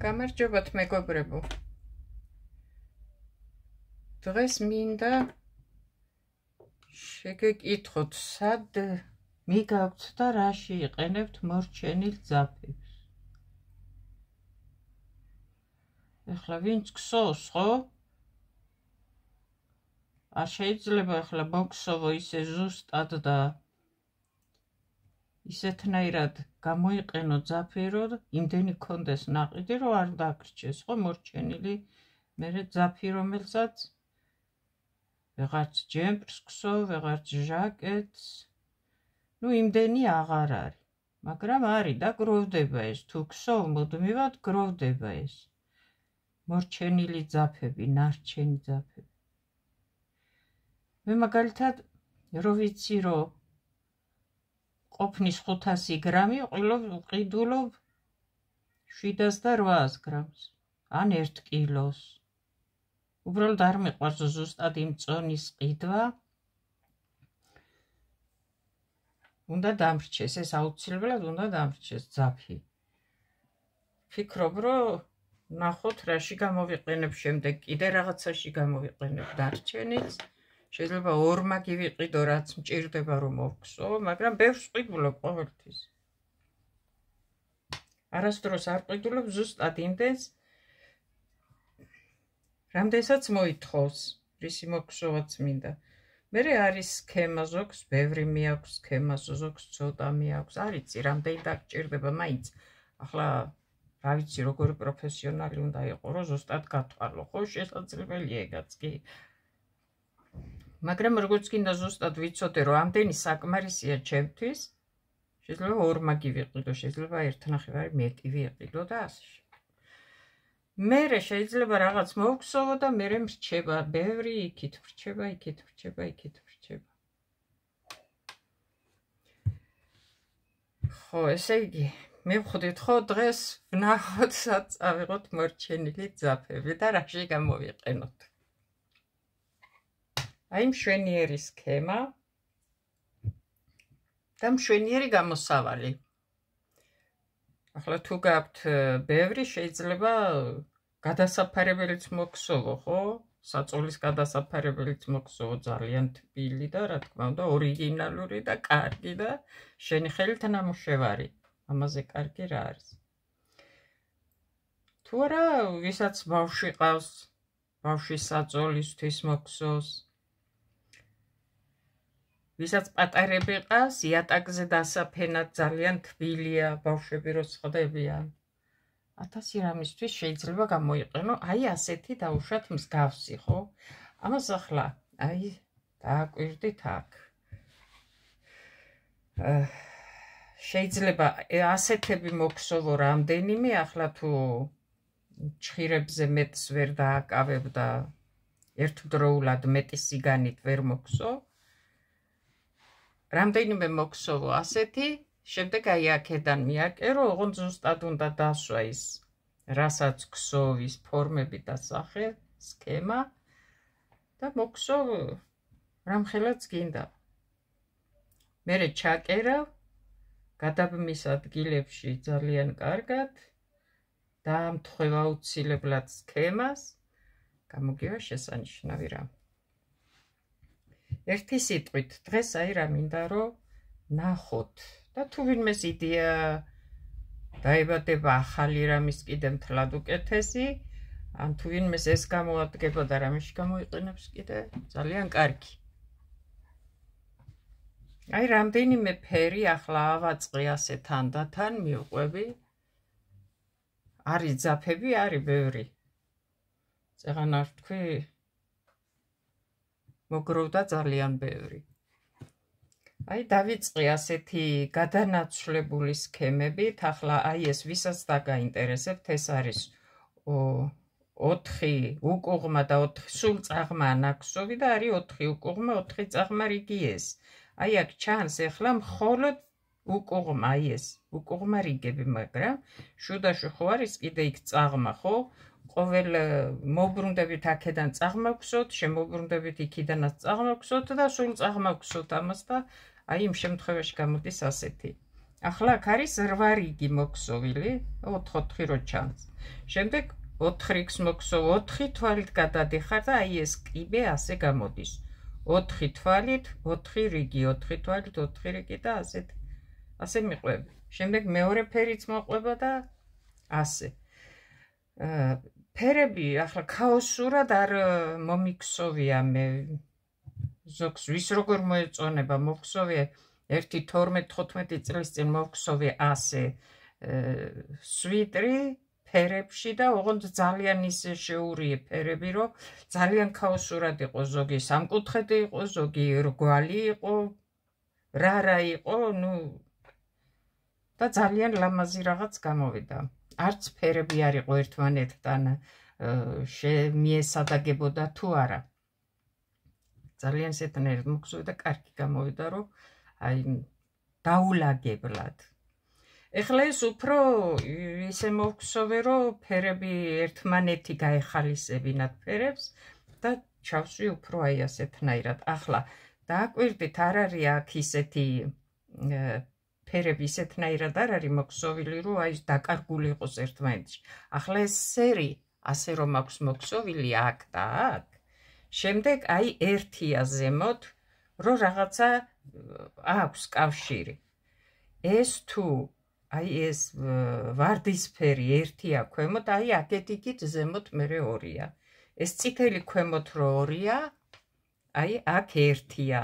გამარჯობათ მეგობრებო. დღეს მინდა შეგეკითხოთ, სად მიგაქვთ და რაში იყენებთ მორჩენილ ძაფებს. ეხლა ვინც ქსოვს, ხო? არ შეიძლება ეხლა მოგსოვო ისე ზუსტად და ისეთნაირად გამოიყენო ძაფი, რომ იმდენი გქონდეს ნაყიდი, რომ არ დაგრჩეს, ხო, მორჩენილი მერე ძაფი, რომელსაც ვეღარც ჯემპრს ქსოვ, ვეღარც ჟაკეტს, იმდენი აღარ არის, მაგრამ არის და გროვდება ეს, თუ ქსოვ მუდმივად გროვდება ეს მორჩენილი ძაფები, ნარჩენი ძაფები. მე მაგალითად რო ვიცი, რომ ყოფნის 500 გრამი ვყიდულობ 700 და 800 გრამს, ან 1 კილოს. უბრალოდ არ მიყვარს ზუსტად იმ წონის ყიდვა. უნდა დამრჩეს, ეს აუცილებლად უნდა დამრჩეს ძაფი. ფიქრობ, რომ ნახოთ რაში გამოვიყენებ შემდეგ, კიდე რაღაცაში გამოვიყენებ დარჩენილს. შეიძლება ორმაგი ვიყიდო, რაც მჭირდება რომ მოვხსო, მაგრამ ბევრს ვყიდულობ ყოველთვის. არასდროს არ ვყიდულობ ზუსტად იმდენს, რამდენსაც მოითხოვს, რისი მოგხსოვაც მინდა. მერე არის სქემა, ზოგს ბევრი მიაქვს სქემა, ზოგს ცოტა მიაქვს, არ იცი რამდენი დაგჭირდება, მაინც ახლა რა ვიცი როგორი პროფესიონალი უნდა იყო, რომ ზუსტად გათვალო, ხო, შესაძლებელია ეგაც კი. მაგრამ როგორც გინდა ზუსტად ვიცოდე, რომ ამდენი საკმარისია ჩემთვის, შეიძლება ორმაგი ვიყიდო, შეიძლება 1.5 მეტი ვიყიდო და ასე. მერე შეიძლება რაღაც მოვხსოვო და მერე მრჩება, ბევრი იქით მრჩება, იქით მრჩება, იქით მრჩება. ხო, ესე იგი, მივხვდით, ხო, დღეს ვნახოთ, სად წავიღოთ მორჩენილი ძაფები და რაში გამოვიყენოთ. აი მშვენიერი სქემა და მშვენიერი გამოსავალი. ახლა თუ გაქვთ ბევრი, შეიძლება გადასაფარებელიც მოგხსოვო, ხო? საწოლის გადასაფარებელიც მოგხსოვო, ძალიან თბილი და რა თქმა უნდა ორიგინალური და კარგი და შენი ხელით ნამუშევარი. ამაზე კარგი რა არის. თუ არა, ვისაც ბავშვი ყავს, ბავშვის საწოლისთვის მოგხსოვს. ვისაც პატარები ყავს, იატაკზე დასაფენად ძალიან თბილია, ბავშვები რო ხდებიან. 1000 რამისთვის შეიძლება გამოიყენო, აი ასეთი დაუშვათ მსგავსი, ხო? ამას ახლა, აი, დააკვირდით აქ. შეიძლება ასეთები მოგხსოვო რამდენიმე, ახლა თუ ჩხირებზე მეტს ვერ დააკავებ და ერთდროულად მეტი სიგანით ვერ მოგხსოვ. რამდენიმე მოგხსოვო ასეთი, შემდეგ აი აქედან მიაკერო, ოღონდ ზუსტად უნდა დასვა ის, რასაც გხსოვ, ის ფორმები და სახე, სქემა და მოგხსოვ რამხელაც გინდა. მერე ჩაკერავ, გადაბმის ადგილებში ძალიან კარგად, დაამთხვევ აუცილებლად სქემას, გამოგივა შესანიშნავი რამ. ერთი სიტყვით, დღეს აი რა მინდა რომ ნახოთ და თუ ვინმეს იდეა დაებადება ახალი რამის კიდე მთლად უკეთესი, ან თუ ვინმეს ეს გამოადგება და რამეში გამოიყენებს კიდე ძალიან კარგი. აი რამდენიმე ფერი ახლა ავაწყე ასე თანდათან მივყვები. არის ძაფები, არის ბევრი. წეღან არ თქვი მოგროვდა ძალიან ბევრი. აი დავიწყე ასეთი გადანაცვლებული სქემებით, ახლა აი ეს ვისაც დაგაინტერესებთ, ეს არის 4 უკუღმა და 4 სულ წაღმა ნაქსოვი და არის 4 უკუღმა, 4 წაღმა რიგი ეს. აი აქ ჩანს ეხლა მხოლოდ უკუღმა, აი ეს უკუღმა რიგები, მაგრამ შუდაში ხო არის კიდე იქ წაღმა, ხო? ყოველ მოbrუნდებით აქედან წაღმა გხსოვთ, შემოbrუნდებით იქიდანაც წაღმა გხსოვთ და სულ წაღმა გხსოვთ ამას და აი იმ შემთხვევაში გამოდის ასეთი. ახლა აქ არის 8 რიგი მოქსოვილი, 4 რო ჩანს. შემდეგ 4x მოქსოვ 4 თვალით გადადიხარ და აი ეს კიბე ასე გამოდის. 4 თვალით 4 რიგი, 4 თვალით 4 რიგი და ასე მიყვები. შემდეგ მეორე ფერიც მოყვება და ასე. ფერები ახლა ქაოსურად არ მომიქსოვია მე ზოგს ვის როგორ მოეწონება მოხსოვე 1-12-15 წლის წინ მოხსოვე ასე სვიტრი ფერებში და ოღონდ ძალიან ისე შეურიე ფერები რომ ძალიან ქაოსურად იყო ზოგი სამკუთხედი იყო ზოგი რგვალი იყო რა იყო ნუ და ძალიან ლამაზი რაღაც გამოვიდა არც ფერები არ იყო ერთმანეთთან მიესადაგებოდა თუ არა ძალიან სეთნერად მოგზოვდა კარგი გამოვიდა რომ აი დაულაგებლად ეხლა ეს უფრო ისე მოგხსოვე რომ ფერები ერთმანეთი გაეხალისებინათ ფერებს და ჩავსვი უფრო აი ასეთნაირად ახლა დააკვირდით არ არის აქ ისეთი ფერები ისეთნაირად არ არის მოგხსოვილი რომ აი დაკარგული იყოს ერთმანეთში ახლა ეს სერი ასე რომ აქვს მოგხსოვილი აქ და აქ შემდეგ აი ერთია ზემოთ რომ რაღაცა აქვს კავშირი ეს თუ აი ეს ვარდისფერი ერთია ქვემოთ აი აქეთ-იქით ზემოთ მერე ორია ეს წითელი ქვემოთ რო ორია აი აქ ერთია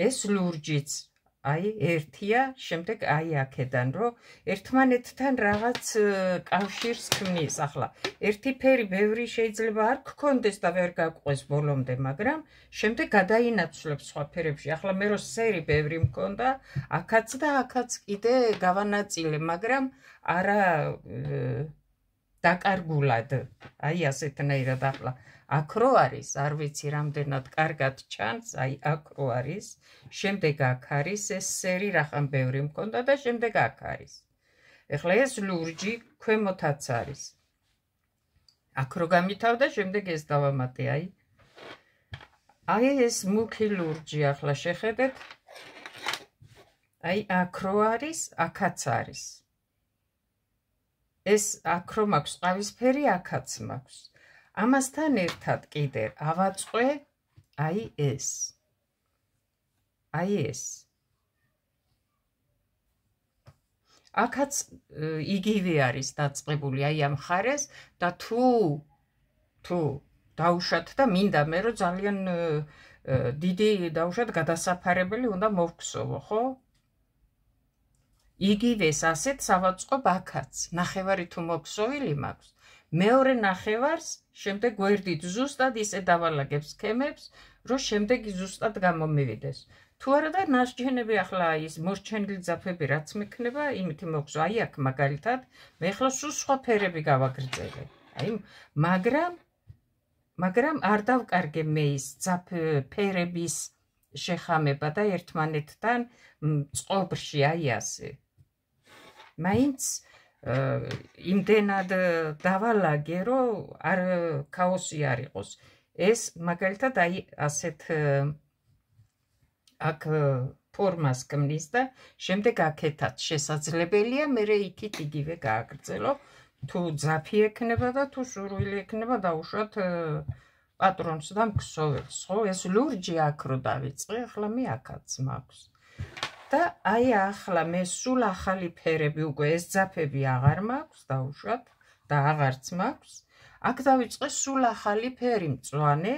ეს ლურჯიც აი ერთია შემდეგ აი აქედან რომ ერთმანეთთან რაღაც კავშირს ქმნის ახლა ერთი ფერი ბევრი შეიძლება არ გქონდეს და ვერ გაყვეს ბოლომდე მაგრამ შემდეგ გადაინაცვლებს სხვა ფერებში ახლა მე რო სერი ბევრი მქონდა აქაც და აქაც კიდე გავანაწილე მაგრამ არა დაკარგულად აი ასეთნაირად ახლა აქ რო არის არ ვიცი რამდენად კარგად ჩანს აი აქ რო არის შემდეგ აქ არის ეს სერი რახან ბევრი მქონდა და შემდეგ აქ არის ეხლა ეს ლურჯი ქვემოთაც არის აქ რო გამითავდა შემდეგ ეს დავამატე აი ეს მუქი ლურჯი ახლა შეხედეთ აი აქ რო არის აქაც არის ეს აქ რო მაქვს ყავისფერი აქაც მაქვს ამასთან ერთად კიდე ავაწყე აი ეს აქაც იგივე არის დაწყებული აი ამ ხარეს და თუ დაუშვათ და მინდა მე რომ ძალიან დიდი დაუშვათ გადასაფარებელი უნდა მოვხსოვო ხო იგივეს ასეთს ავაწყობ აქაც ნახევარი თუ მოგხსოვილი მაქვს მეორე ნახევარს შემდეგ გვერდით ზუსტად ისე დავალაგებ სქემებს რომ შემდეგ ზუსტად გამომივიდეს თუ არა და ნასჯენები ახლა ის მორჩენილი ძაფები რაც მექნება იმითი მოგხსო აი აქ მაგალითად მე ახლა სულ სხვა ფერები გავაგრძელე აი მაგრამ არ დავკარგე მე ის ფერების შეხამება და ერთმანეთთან წყობრში აი ასე მაინც იმდენად დავალაგე რომ არ ქაოსი არ იყოს ეს მაგალითად აი ასეთ აქ ფორმას ქმნის და შემდეგ აქეთაც შესაძლებელია მე იქით იგივე გააგრძელო თუ ძაფი ექნება და თუ სურვილი ექნება დაუშვათ პატრონს და მქსოველს ხო ეს ლურჯი აქ რო დავიწყე ახლა მე აქაც მაქვს და აი ახლა მე სულ ახალი ფერები უკვე ეს ძაფები აღარ მაქვს დაუშვათ და აღარც მაქვს აქ დავიწყე სულ ახალი ფერი მწვანე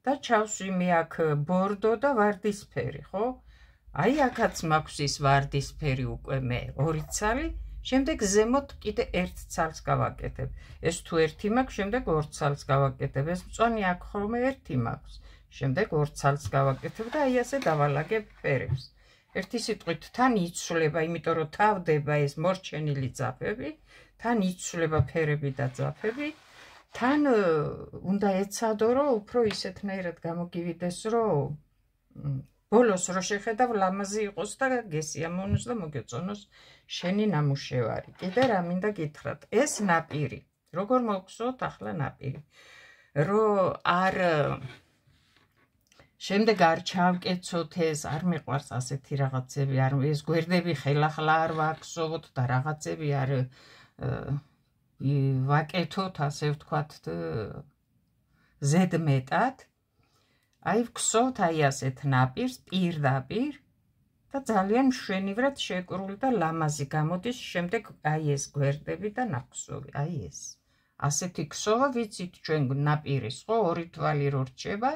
და ჩავსვი მე აქ ბორდო და ვარდისფერი ხო აი აქაც მაქვს ის ვარდისფერი უკვე მე ორი ცალი შემდეგ ზემოთ კიდე ერთ ცალს გავაკეთებ ეს თუ ერთი მაქვს შემდეგ ორ ცალს გავაკეთებ ეს მწვანე აქ ხოლმე ერთი მაქვს შემდეგ ორ ცალს გავაკეთებ და აი ასე დავალაგებ ფერებს ერთი სიტყვით თან იცვლება იმიტომ რომ თავდება ეს მორჩენილი ძაფები თან იცვლება ფერები და ძაფები თან უნდა ეცადო რომ უფრო ისეთნაირად გამოგივიდეს რომ ბოლოს რო შეხედავ ლამაზი იყოს და გესიამოვნოს და მოგეწონოს შენი ნამუშევარი კიდე რა მინდა გითხრათ ეს ნაპირი როგორ მოგხსოვთ ახლა ნაპირი რომ არ შემდეგ არ ჩავკეცოთ ეს, არ მიყვარს ასეთი რაღაცები, არ ეს გვერდები ხელახლა არ ვაქსოვოთ და რაღაცები არ ვაკეთოთ, ასე ვთქვათ, ზედმეტად. აი ვქსოვთ აი ასეთ ნაპირს პირდაპირ და ძალიან მშვენივრად შეკრული და ლამაზი გამოდის შემდეგ აი ეს გვერდები და ნახსოვი, აი ეს. ასეთი ქსოვა ვიცით ჩვენ ნაპირის, ხო, ორი თვალი რო რჩება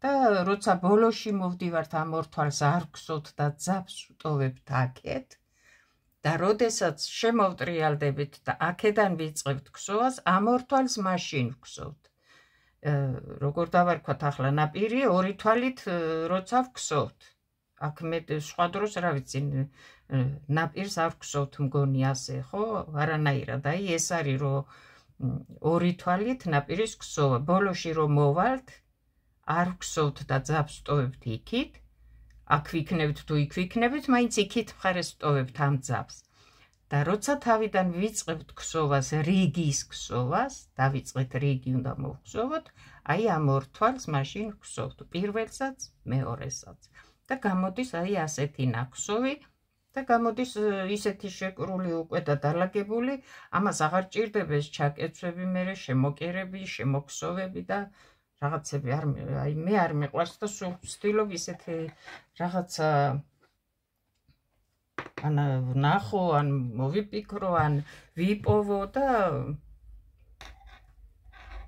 და როცა ბოლოში მოვდივართ ამ ორ თვალს არ ვქსოვთ და ძაბს ვტოვებთ აქეთ და როდესაც შემოვტრიალდებით და აქედან ვიწყებთ ქსოვას, ამ ორ თვალს მაშინ ვქსოვთ. როგორ დავარქვათ ახლა ნაპირი ორი თვალით როცა ვქსოვთ. აქ მე სხვა დროს რა ვიცი ნაპირს არ ვქსოვთ მგონი ასე, ხო? არანაირად. აი ეს არის რომ ორი თვალით ნაპირის ქსოვა. ბოლოში რომ მოვალთ, არ ვქსოვთ და ძაბს ვტოვებთ იქით. აქ ვიქნებით თუ იქ ვიქნებით, მაინც იქით მხარეს ვტოვებთ ამ ძაბს. და როცა თავიდან ვიწყებთ ქსოვას, რიგის ქსოვას, დავიწყეთ რიგი უნდა მოვხსოვოთ, აი ამ ორ თვალს მაშინ ვხსოვთ, პირველსაც, მეორესაც. და გამოდის აი ასეთი ნახსოვი და გამოდის ისეთი შეკრული უკვე და დალაგებული, ამას აღარ ჭირდება ჩაკეცვები, მერე შემოკერები, შემოქსოვები და რაღაცები აი მე არ მიყვარს და სულ ვცდილობ ისეთი რაღაცა ან ვნახო, ან მოვიპიკრო, ან ვიპოვო და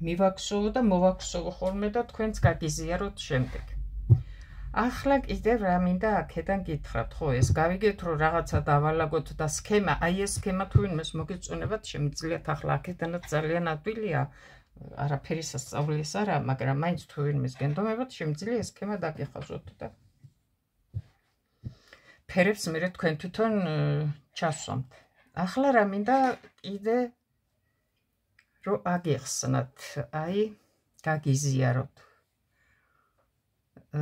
მივაქსოვო და მოვაქსოვო ხოლმე და თქვენც გაგიზიაროთ შემდეგ. ახლა კიდევ რა მინდა აქედან გითხრათ, ხო, ეს გავიგეთ რომ რაღაცა დავალაგოთ და სქემა, აი ეს სქემა თუ ვინმეს მოგეწონებათ, შემიძლიათ ახლა აქედანაც ძალიან ადვილია, არაფერი სასწაულის არა, მაგრამ მაინც თუ ვინმეს გენდომებათ, შემიძლია ეს სქემა დაგეხაზოთ და ფერებს მერე თქვენ თვითონ ჩასვამთ. ახლა რა მინდა კიდე რომ აგიხსნათ, აი გაგიზიაროთ.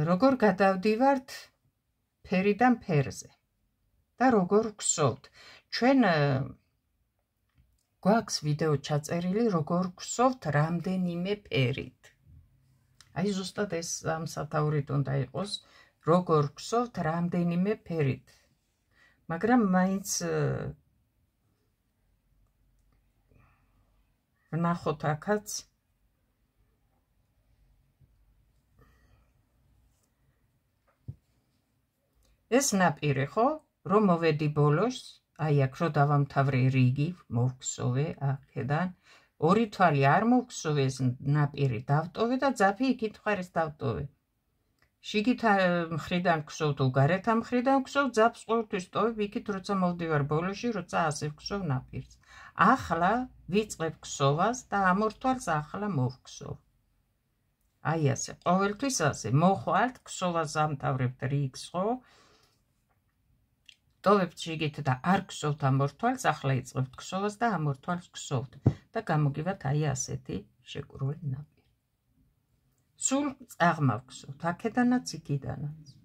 როგორ გადავდივართ ფერიდან ფერზე და როგორ ვქსოვთ. ჩვენ გვაქვს ვიდეო ჩაწერილი, როგორ ვქსოვთ რამდენიმე ფერით. აი ზუსტად ეს ამ სათაურით უნდა იყოს, როგორ ვქსოვთ რამდენიმე ფერით. მაგრამ მაინც ვნახოთ აქაც ეს ნაპირი, ხო? რომ მოვედი ბოლოს, აი აქ რო დავამთავრე რიგი, მოვქსოვე აქედან, ორი თვალი არ მოვქსოვე, ეს ნაპირი დავტოვე და ძაფი იქით მხარეს დავტოვე. შიგით მხრიდან ვქსოვ თუ გარეთ მხრიდან ვქსოვ, ძაფს ყოველთვის ვტოვებ იქით, როცა მოვდივარ ბოლოში, როცა ასე ვქსოვ ნაპირს. ახლა ვიწყებ ქსოვას და ამ ორ თვალს ახლა მოვქსოვ. აი ასე, ყოველთვის ასე, მოხვალთ, ქსოვას ამთავრებთ რიგს, ხო? ვტოვებთ შიგით და არ ვქსოვთ ამ ორ თვალს, ახლა იწყებთ ქსოვას და ამ ორ თვალს ვქსოვთ და გამოგივათ აი ასეთი შეკრული ნაპირი. სულ წაღმავხსოვთ, აქედანაც იქიდანაც.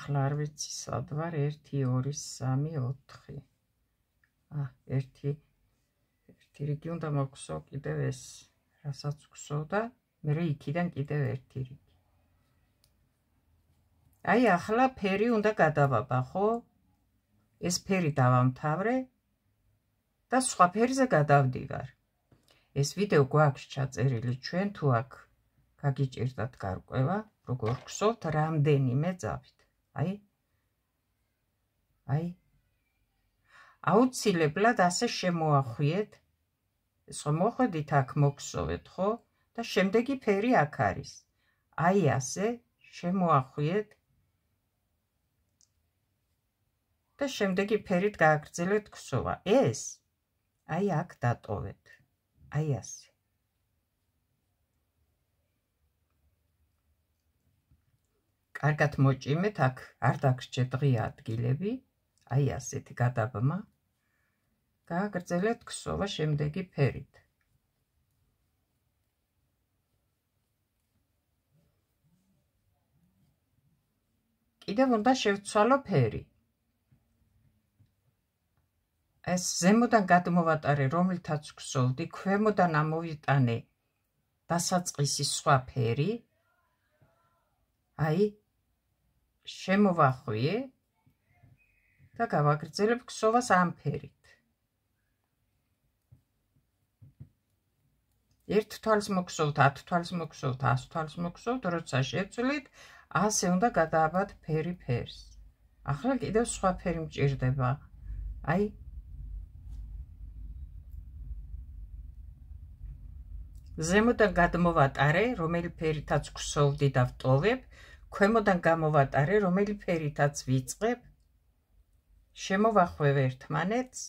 ახლა არ ვიცი სად ვარ, 1 2 3 4. ერთი რიგი უნდა მოვხსოვ კიდევ ეს, რასაც ვხსოვ და მე იქიდან კიდევ ერთი რიგი. აი ახლა ფერი უნდა გადავაბა, ხო? ეს ფერი დავამთავრე და სხვა ფერზე გადავდივარ. ეს ვიდეო გვაქვს ჩაწერილი, ჩვენ თუ აქ გაგიჭირდათ გარკვევა, როგორ ვხსოვთ რამდენიმე ძაფით. აი აუცილებლად ასე შემოახვიეთ, ეს ხო მოხვედით აქ მოგხსოვეთ, ხო? და შემდეგი ფერი აქ არის. აი ასე შემოახვიეთ და შემდეგი ფერით გააგრძელეთ ქსოვა. ეს აი აქ დატოვეთ. აი ასე. კარგად მოჭიმეთ, აქ არ დაგრჩეთ ღია ადგილები. აი ასეთი გადაბმა. გააგრძელეთ ქსოვა შემდეგი ფერით. კიდევ უნდა შევცვალო ფერი. ეს ზემოდან გადმოვატარე, რომელთაც ქსოვდი, ქვემოდან ამოვიტანე დასაწყისი სხვა ფერი. აი, შემოვახვიე და გავაგრძელებ ქსოვას ამ ფერით. ერთ თვალს მოგხსოვთ, 10 თვალს მოგხსოვთ, 100 თვალს მოგხსოვთ, როცა შევცვლით, ასე უნდა გადააბათ ფერი ფერს. ახლა კიდევ სხვა ფერი მჭირდება. აი, ზემოდან გადმოვატარე, რომელი ფერითაც ქსოვდი და ვტოვებ, ქვემოდან გამოვატარე, რომელი ფერითაც ვიწყებ, შემოვახვევ ერთმანეთს,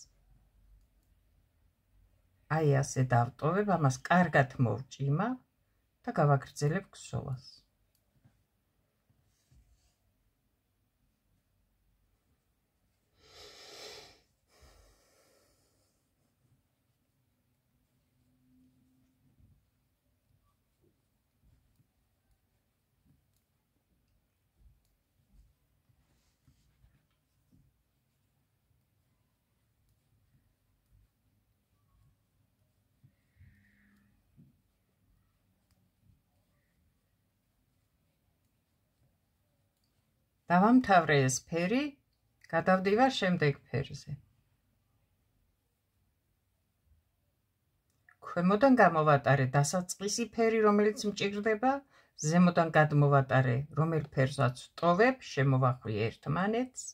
აი ასე დავტოვებ, ამას კარგად მოვჭიმავ და გავაგრძელებ ქსოვას. დავამთავრე ეს ფერი, გადავდივარ შემდეგ ფერზე. ქვემოდან გამოვატარე დასაწყისი ფერი, რომელიც მჭირდება, ზემოდან გადმოვატარე, რომელ ფერსაც ვტოვებ, შემოვახვიე ერთმანეთს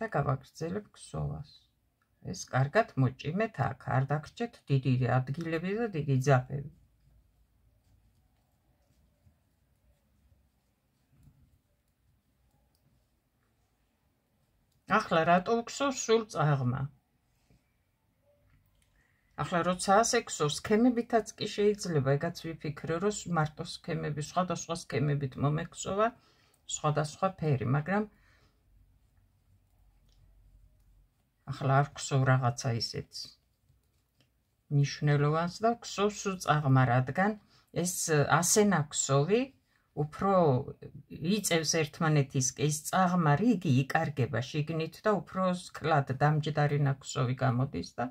და გავაგრძელებ ქსოვას. ეს კარგად მოჭიმეთ აქ, არ დაგრჩეთ დიდი ადგილები და დიდი ძაფები. ახლა რატო ვქსოვ სულ წაღმა? ახლა როცა ასე ქსოვ, სქემებითაც კი შეიძლება, ეგაც ვიფიქრე, რომ მარტო სქემები, სხვადასხვა სქემებით მომექსოვა სხვადასხვა ფერი, მაგრამ ახლა არ ვქსოვ რაღაცა ისეთ მნიშვნელოვანს და ვქსოვ სულ წაღმა, რადგან ეს ასე ნაქსოვი უფრო იწევს ერთმანეთისკენ, ის წაღმა რიგი იკარგება შიგნით და უფრო სკლად დამჯდარი ნაქსოვი გამოდის და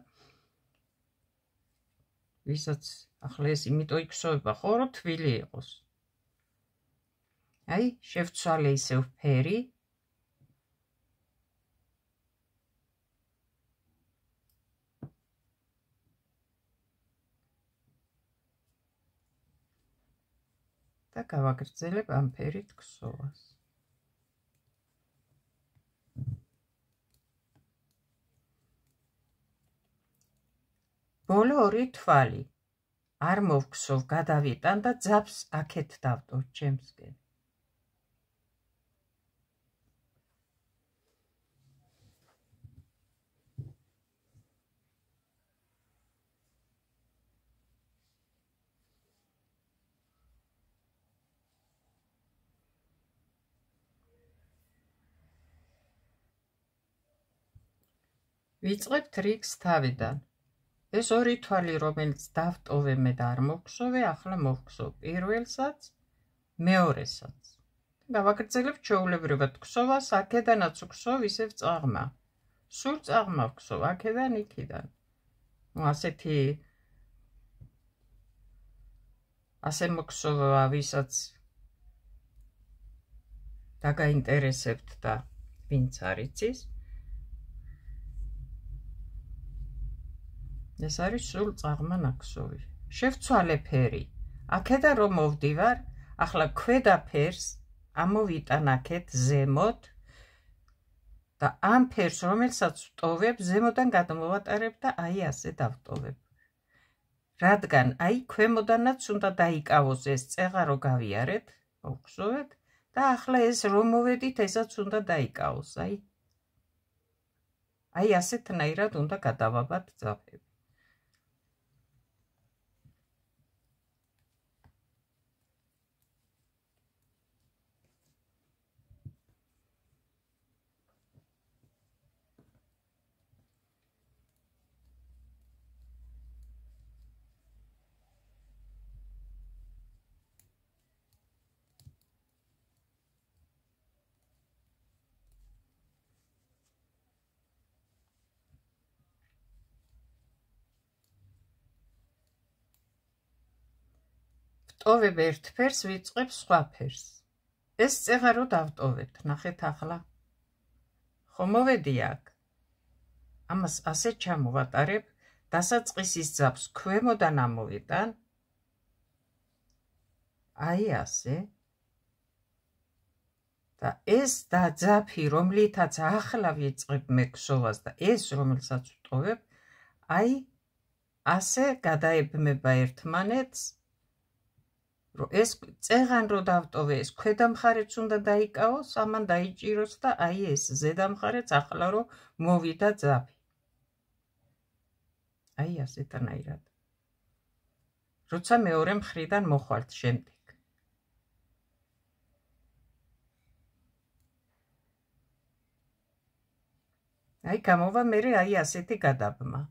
ვისაც ახლა ეს იმიტომ იქსოვება, ხო, რომ თბილი იყოს. აი, შევცვალე ისევ ფერი. და გავაგრძელებ ამ ფერით ქსოვას. ბოლო ორი თვალი არ მოვქსოვ, გადავიტან და ძაფს აქეთ დავტოვ ჩემსკენ. ვიწყებთ რიგს თავიდან. ეს ორი თვალი, რომელიც დავტოვე მე და არ მოვხსოვე, ახლა მოვხსოვ პირველსაც, მეორესაც. გავაგრძელებ ჩვეულებრივად ქსოვას, აქედანაც ვქსოვ ისევ წაღმა. სულ წაღმა ვქსოვ, აქედან იქიდან. ასე მოგხსოვა, ვისაც დაგაინტერესებთ და ვინც არ იცის. ეს არის სულ წაღმა ნაქსოვი. შევცვალე ფერი. აქედან რომ მოვდივარ, ახლა ქვედა ფერს ამოვიტან აქეთ ზემოთ და ამ ფერს, რომელსაც ვტოვებ, ზემოდან გადმოვატარებ და აი ასე დავტოვებ. რადგან აი ქვემოდანაც უნდა დაიკავოს ეს წეღარო გავიარეთ, მოვხსოვეთ და ახლა ეს რომ მოვედით, ესაც უნდა დაიკავოს, აი ასეთნაირად უნდა გადავაბათ ძაფები. ტოვებ ერთ ფერს, ვიწყებ სხვა ფერს. ეს წეღა რო დავტოვებთ, ნახეთ ახლა. ხო მოვედი აქ. ამას ასე ჩამოვატარებ, დასაწყისის ძაბს ქვემოდან ამოვიტან. აი ასე. და ეს ძაფი, რომლითაც ახლა ვიწყებ მე ქსოვას და ეს, რომელსაც ვტოვებ, აი ასე გადაებმება ერთმანეთს, რომ ეს წეღან რო დავტოვე, ეს ქვედა მხარეც უნდა დაიკავოს, ამან დაიჭიროს და აი ეს ზედა მხარეც ახლა რო მოვიდა ძაფი. აი ასეთანაირად. როცა მეორე მხრიდან მოხვალთ შემდეგ. აი გამოვა მერე აი ასეთი გადაბმა.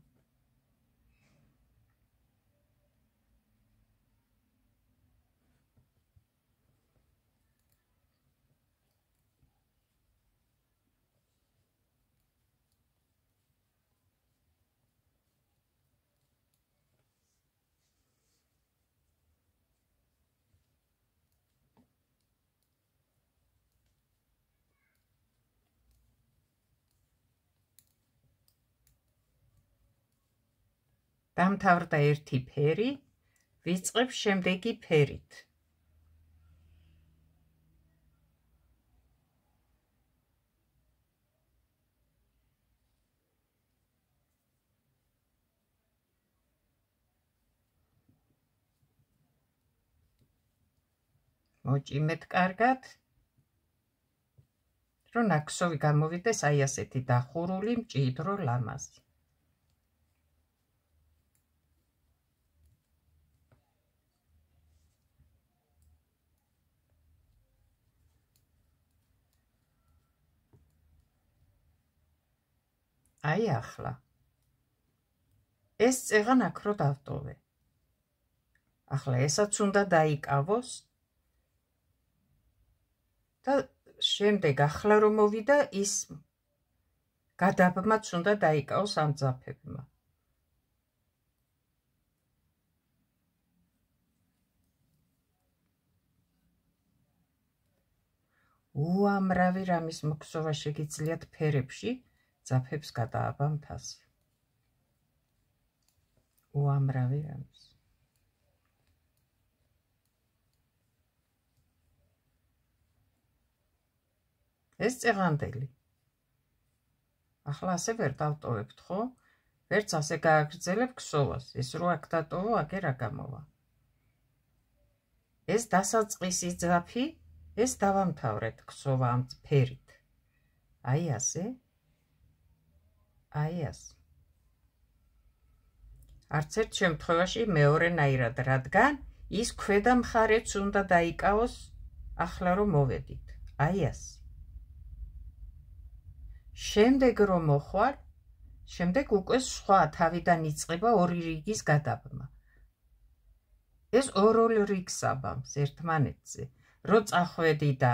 დამთავრდა ერთი ფერი, ვიწყებ შემდეგი ფერით. მოჭიმეთ კარგად, რომ ნაქსოვი გამოვიდეს აი ასეთი დახურული მჭიდრო ლამაზი. აი ახლა. ეს წეღან აქ რო დავტოვე. ახლა ესაც უნდა დაიკავოს და შემდეგ ახლა რომ მოვიდა ის გადაბმაც უნდა დაიკავოს ამ ძაფებმა. უამრავი რამის მოქსოვა შეგიძლიათ ფერებში, ძაფებს გადააბამთ ასე. უამრავი რამის. ეს წეღანდელი. ახლა ასე ვერ დავტოვებთ, ხო? ვერც ასე გააგრძელებ ქსოვას. ეს რო აქ დატოვო, აგერ რა გამოვა. ეს დასაწყისი ძაფი, ეს დავამთავრეთ ქსოვა ამ ფერით. აი ასე. აი ასე. არც ერთ შემთხვევაში მეორენაირად, რადგან ის ქვედა მხარეც უნდა დაიკავოს ახლა რომ მოვედით. აი ასე. შემდეგ რომ მოხვალ, შემდეგ უკვე სხვა თავიდან იწყება ორი რიგის გადაბმა. ეს ორ რიგს აბამს ერთმანეთზე. რო წახვედი და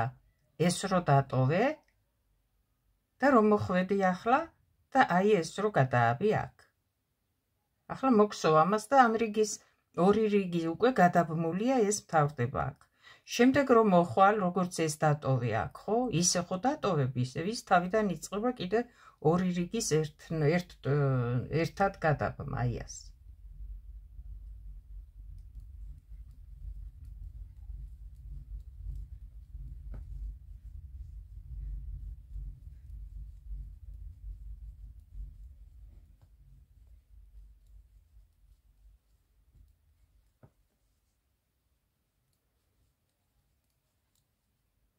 ეს რო დატოვე და რომ მოხვედი ახლა და აი ეს რო გადააბი აქ. ახლა მოქსოვ ამას და ამ რიგის ორი რიგი უკვე გადაბმულია, ეს მთავრდება აქ. შემდეგ რომ მოხვალ, როგორც ეს დატოვე აქ, ხო? ისე ხო დატოვებ, ისე ის თავიდან იწყება კიდე ორი რიგის ერთად გადაბმა, აი ასე.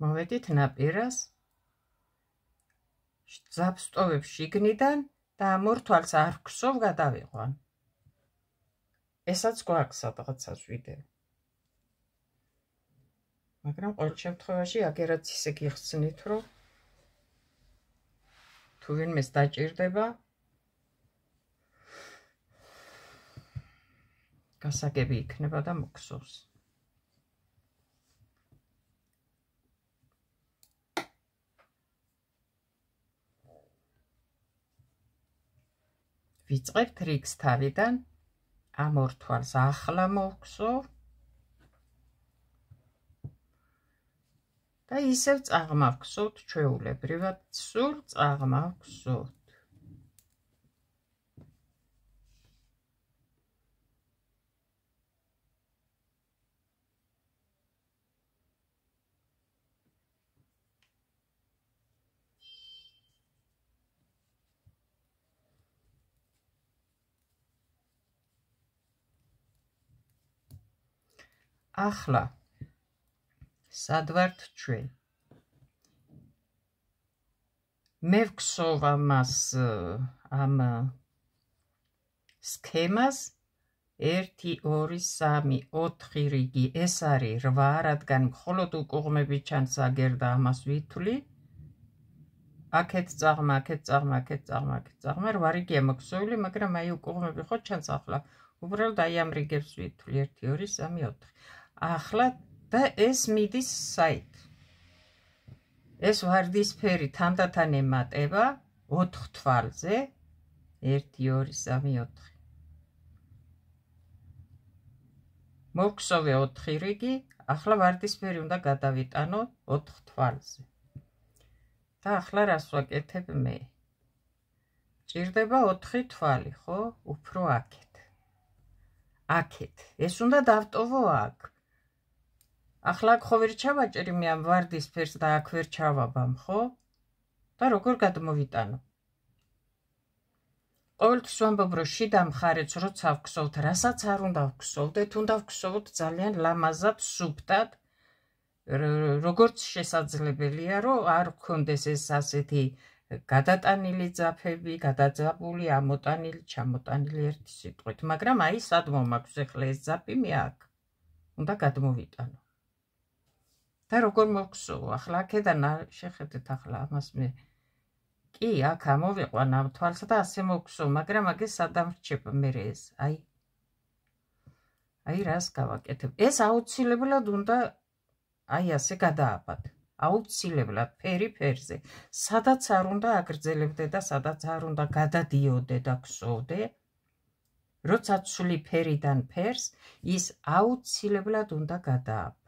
მოვედით ნაპირას, ძაფს ტოვებ შიგნიდან და ამ ორ თვალს არ ქსოვ გადავიყვან. ესაც გვაქვს სადღაცას ვიდეო. მაგრამ ყოველ შემთხვევაში აგერაც ისე გიხსნით, რომ თუ ვინმეს დაჭირდება, გასაგები იქნება და მოქსოვს. ვიწყებთ რიგს თავიდან, ამ ორ თვალს ახლა მოვქსოვ და ისევ წაღმავგსოვთ ჩვეულებრივად, სულ წაღმავგსოვთ. ახლა სად ვართ ჩვენ? მე ვგსოვ ამას ამ სქემას 1 2 3 4 რიგი, ეს არის 8, რადგან მხოლოდ უკუღმები ჩანს აგერდა ამას ვითვლი. აქეთ წაღმა, აქეთ წაღმა, აქეთ წაღმა, აქეთ წაღმა, 8 რიგია მოგსოვილი, მაგრამ აი უკუღმები ხო ჩანს ახლა. უბრალოდ აი ამ რიგებს ვითვლი 1 2 3 4. ახლა და ეს მიდის საით. ეს ვარდისფერი თანდათან ემატება 4 თვალზე 1 2 3 4. მოგხსოვე 4 რიგი, ახლა ვარდისფერი უნდა გადავიტანო 4 თვალზე. და ახლა რას ვაკეთებ მე? ჭირდება 4 თვალი, ხო? უფრო აქეთ. აქეთ. ეს უნდა დავტოვო აქ. ახლა აქ ხო ვერ ჩავაჭერი მე ამ ვარდისფერს და აქ ვერ ჩავაბამ, ხო? და როგორ გადმოვიტანო? ყოველთვის ვამბობ, რომ შიდა მხარეც როცა ვგსოვთ, რასაც არ უნდა ვგსოვდეთ, უნდა ვგსოვოთ ძალიან ლამაზად, სუფთად, როგორც შესაძლებელია, რომ არ გქონდეს ეს ასეთი გადატანილი ძაფები, გადაძაბული, ამოტანილი, ჩამოტანილი ერთი სიტყვით, მაგრამ აი სად მომაქვს ახლა ეს ძაფი მე აქ. უნდა გადმოვიტანო. და როგორ მოგხსოვო? ახლა აქედან შეხედეთ ახლა ამას მე. კი, აქ ამოვიყვან ამ თვალს და ასე მოგხსოვ, მაგრამ აგე სადამრჩებ მე ეს. აი რას გავაკეთებ? ეს აუცილებლად უნდა აი ასე გადააბად. აუცილებლად ფერი ფერზე. სადაც არ უნდა აგრძელებდე და სადაც არ უნდა გადადიოდე და გსოვდე, როცა ცვლი ფერიდან ფერს, ის აუცილებლად უნდა გადააბა.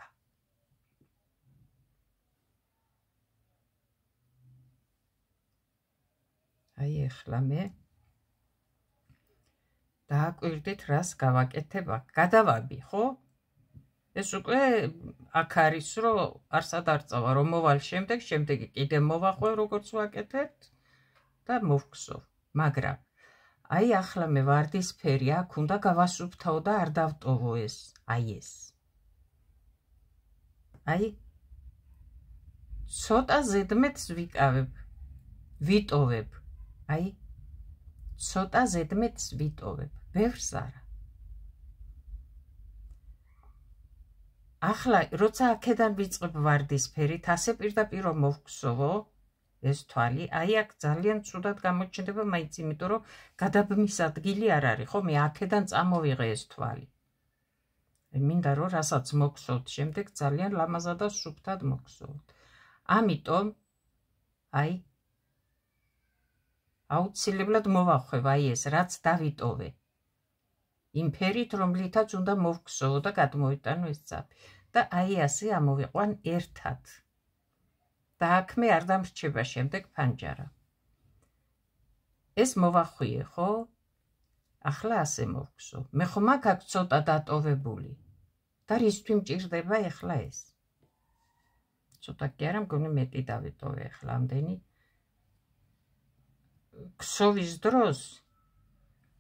აი ახლა მე დააკვირდით რას გავაკეთებ აქ. გადავაბი, ხო? ეს უკვე აქ არის, რომ არსად არ წავა, რომ მოვალ შემდეგ კიდე მოვახვევ როგორც ვაკეთებთ და მოვგსოვ. მაგრამ აი ახლა მე ვარდისფერი აქ უნდა გავასუფთავო და არ დავტოვო ეს. აი ეს. აი ცოტა ზედმეტს ვიკავებ. ვიტოვებ. აი ცოტა ზედმეტს ვიტოვებ. ბევრს არა. ახლა როცა აქედან ვიწყებ ვარდისფერით, ასე პირდაპირ რომ მოვგსოვო ეს თვალი, აი აქ ძალიან ცუდად გამოჩნდება, მაინც იმიტომ რომ გადაბმის ადგილი არ არის, ხო? მე აქედან წამოვიღე ეს თვალი. მინდა რომ რასაც მოგხსოვთ შემდეგ ძალიან ლამაზად და სუფთად მოგხსოვთ. ამიტომ აი აუცილებლად მოვახვევ აი ეს რაც დავიტოვე. იმ ფერით, რომლითაც უნდა მოვგსოვო და გადმოვიტანო ეს ძაფი. და აი ასე ამოვიყვან ერთად. და აქ მე არ დამრჩება შემდეგ ფანჯარა. ეს მოვახვიე, ხო? ახლა ასე მოვგსოვ. მე ხომ აქ ცოტა დატოვებული. და რისთვის მჭირდება ახლა ეს? ცოტა კი არა, მგონი მეტი დავიტოვე ახლა ამდენი. გსოვის დროს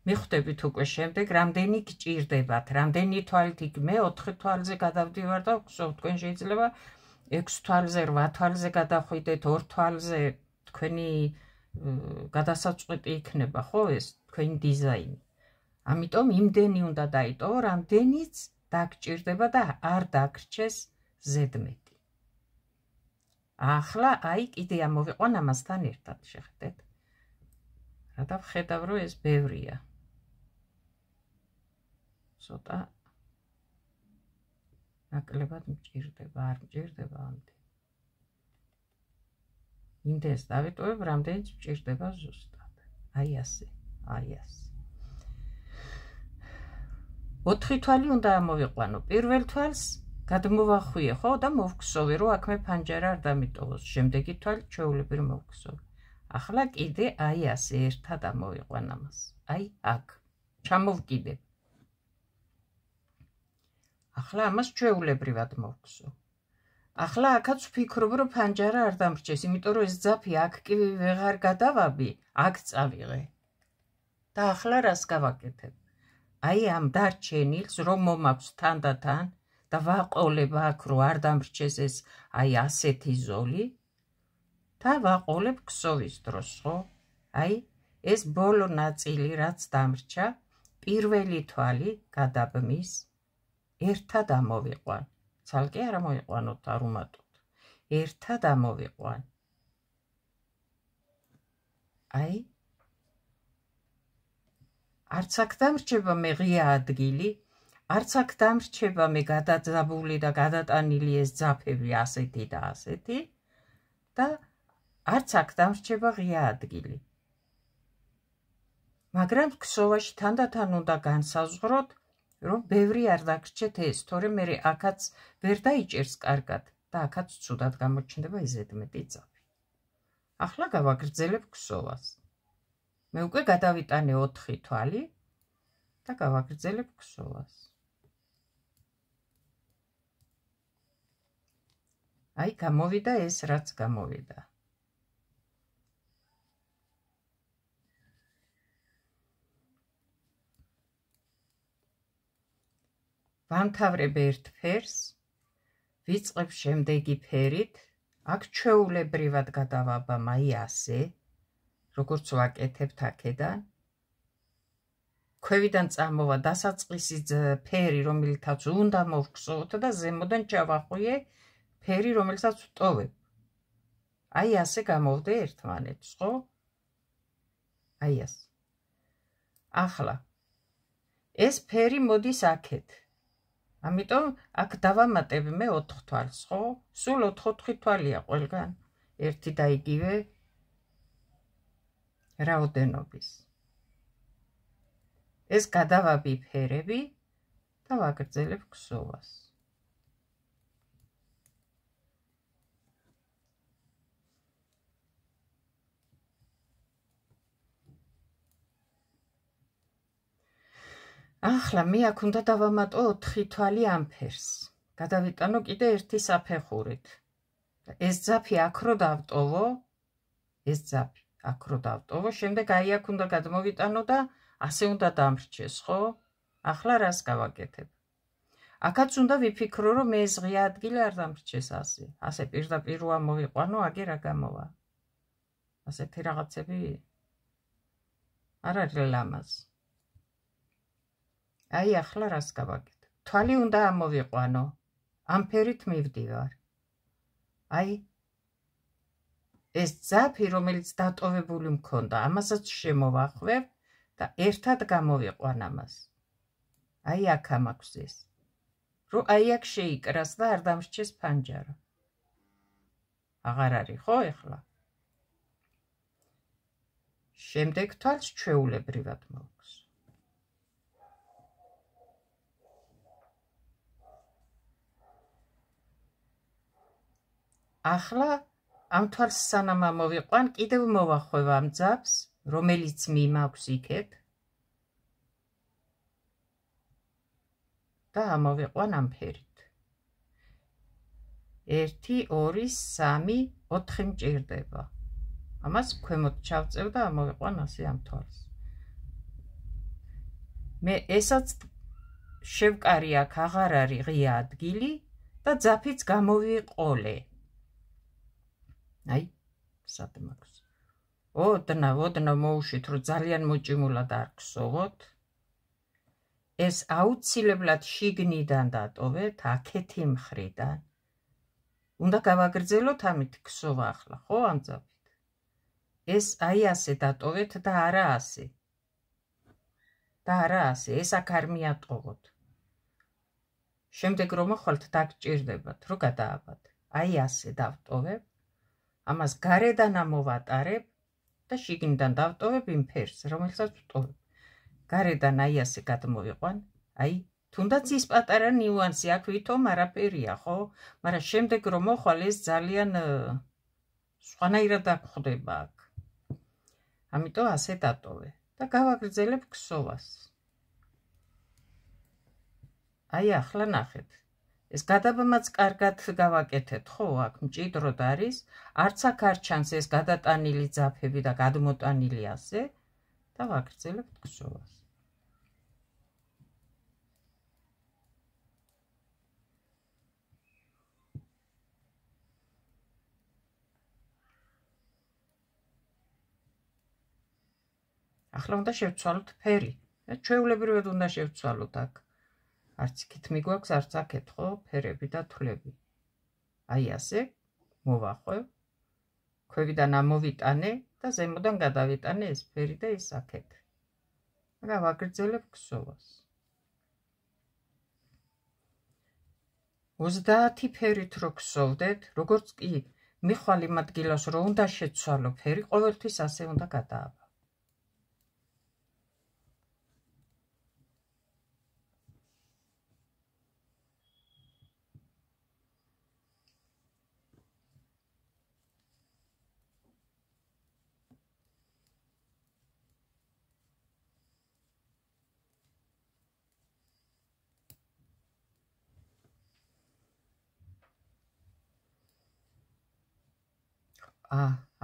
მიხვდებით უკვე შემდეგ რამდენი გჭირდებათ, რამდენი თვალით იქ მე 4 თვალზე გადავდივარ და ვგსოვ, თქვენ შეიძლება 6 თვალზე, 8 თვალზე გადახვიდეთ, 2 თვალზე თქვენი გადასაწყვეტი იქნება, ხო ეს თქვენი დიზაინი. ამიტომ იმდენი უნდა დაიტოვო, რამდენიც დაგჭირდება და არ დაგრჩეს ზედმეტი. ახლა აი კიდე ამოვიყვან ამასთან ერთად, შეხედეთ. და ვხედავ, რომ ეს ბევრია. ცოტა ნაკლებად მჭირდება, არ მჭირდება ამდენ. იმდენს დავიტოვებ, რამდენიც მჭირდება ზუსტად. აი ასე, აი ასე. 4 თვალი უნდა ამოვიყვანო. პირველ თვალს გადმოვახვიე ხო და მოვგსოვე რომ აქ მე ფანჯარა არ დამიტოვოს. შემდეგი თვალი ჩვეულებრივ მოვგსოვე. ახლა კიდე აი ასე ერთად ამოვიყვან ამას. აი აქ ჩამოვკიდებ. ახლა ამას ჩვეულებრივად მოვგსოვ. ახლა აქაც ვფიქრობ რომ ფანჯარა არ დამრჩეს, იმიტომ რომ ეს ძაფი აქ კი ვეღარ გადავაბი, აქ წავიღე. და ახლა რას გავაკეთებ? აი ამ დარჩენილს რომ მომაქვს თანდათან და ვაყოლებ აქ რომ არ დამრჩეს ეს აი ასეთი ზოლი და ვაყოლებ ქსოვის დროს, ხო? აი ეს ბოლო ნაწილი რაც დამრჩა, პირველი თვალი გადაბმის, ერთად ამოვიყვან. ცალკე არ ამოვიყვანოთ, არ უმატოთ. ერთად ამოვიყვან. აი არც აქ დამრჩება მე ღია ადგილი, არც აქ დამრჩება მე გადაძაბული და გადატანილი ეს ძაფები ასეთი და ასეთი და არც აქ დამრჩება ღია ადგილი. მაგრამ ქსოვაში თანდათან უნდა განსაზღვროთ, რომ ბევრი არ დაგრჩეთ ეს, თორემ მე აქაც ვერ დაიჭერს კარგად და აქაც ცუდად გამოჩნდება ზედმეტი ძაფი. ახლა გავაგრძელებ ქსოვას. მე უკვე გადავიტანე 4 თვალი და გავაგრძელებ ქსოვას. აი გამოვიდა ეს რაც გამოვიდა. ვამთავრებ ერთ ფერს, ვიწყებ შემდეგი ფერით, აქ ჩვეულებრივად გადავაბამ აი ასე, როგორც ვაკეთებთ აქედან. ქვევიდან წამოვა დასაწყისი ფერი, რომელთაც უნდა მოვგსოვოთ და ზემოდან ჩავახვიე ფერი, რომელსაც ვტოვებ. აი ასე გამოვდე ერთმანეთს, ხო? აი ასე. ახლა ეს ფერი მოდის აქეთ. ამიტომ აქ დავამატებ მე 4 თვალს, ხო? სულ 4 თვალია ყველგან. ერთი და იგივე რაოდენობის. ეს გადავაბი ფერები და ვაგრძელებ ქსოვას. ახლა მე აქ უნდა დავამატო 4 თვალი ამ ფერს. გადავიტანო კიდე ერთი საფეხურით. ეს ძაფი აქ რო დავტოვო, ეს ძაფი აქ რო დავტოვო, შემდეგ აი აქ უნდა გადმოვიტანო და ასე უნდა დამრჩეს, ხო? ახლა რას გავაკეთებ? აქაც უნდა ვიფიქრო, რომ მე ეს ღია ადგილი არ დამრჩეს ასე. ასე პირდაპირ რო ამოვიყვანო, აგერ რა გამოვა? ასეთი რაღაცები არ არის ლამაზი. აი ახლა რას გავაკეთებ? თვალი უნდა ამოვიყვანო. ამ ფერით მივდივარ. აი ეს ძაფი, რომელიც დატოვებული მქონდა, ამასაც შემოვახვევ და ერთად გამოვიყვან ამას. აი აქ ამაქვს ეს. რომ აი აქ შეიკრას და არ დამრჩეს ფანჯარა. აღარ არის, ხო ეხლა? შემდეგ თვალს ჩვეულებრივად მოვგს. ახლა ამ თვალს სანამ ამოვიყვან, კიდევ მოვახვევ ამ ძაფს, რომელიც მიმაქვს იქეთ და ამოვიყვან ამ ფერით. 1, 2, 3, 4 მჭირდება. ამას ქვემოთ ჩავწევ და ამოვიყვან ასე ამ თვალს. მე ესაც შევკარი აქ აღარ არის ღია ადგილი და ძაფიც გამოვიყოლე. აი, სად მაქვს. ოდნა მოუშვით, რომ ძალიან მოჭიმულად არ ქსოვოთ. ეს აუცილებლად შიგნიდან დატოვეთ, აქეთი მხრიდან. უნდა გავაგრძელოთ ამით ქსოვა ახლა, ხო, ამ ძაფით. ეს აი ასე დატოვეთ და არა ასე. და არა ასე, ეს აქ არ მიატოვოთ. შემდეგ რომ მოხვალთ, დაგჭირდებათ, რომ გადააბათ. აი ასე დავტოვებ. ამას გარედან ამოვატარებ და შიგნიდან დავტოვებ იმ ფერს, რომელსაც ვტოვებ. გარედან აი ასე გადმოვიყვან, აი თუნდაც ის პატარა ნიუანსი აქ ვითომ არაფერია, ხო? მაგრამ შემდეგ რომ მოხვალ ეს ძალიან სხვანაირად გვხვდება აქ. ამიტომ ასე დატოვე და გავაგრძელებ ქსოვას. აი ახლა ნახეთ. ეს გადაბმაც კარგად გავაკეთეთ, ხო? აქ მჭიდროდ არის, არც აქ არ ჩანს ეს გადატანილი ძაფები და გადმოტანილი ასე და ვაგრძელებთ ქსოვას. ახლა უნდა შევცვალოთ ფერი. ჩვეულებრივად უნდა შევცვალოთ აქ. არც იქით მიგვაქვს, არც აქეთ, ხო? ფერები და თვლები. აი ასე მოვახვევ. ქვევიდან ამოვიტანე და ზემოდან გადავიტანე ეს ფერი და ეს აქეთ. და ვაგრძელებ ქსოვას. 30 ფერით რო ქსოვდეთ, როგორც კი მიხვალ იმ ადგილას, რომ უნდა შეცვალო ფერი, ყოველთვის ასე უნდა გადააბა.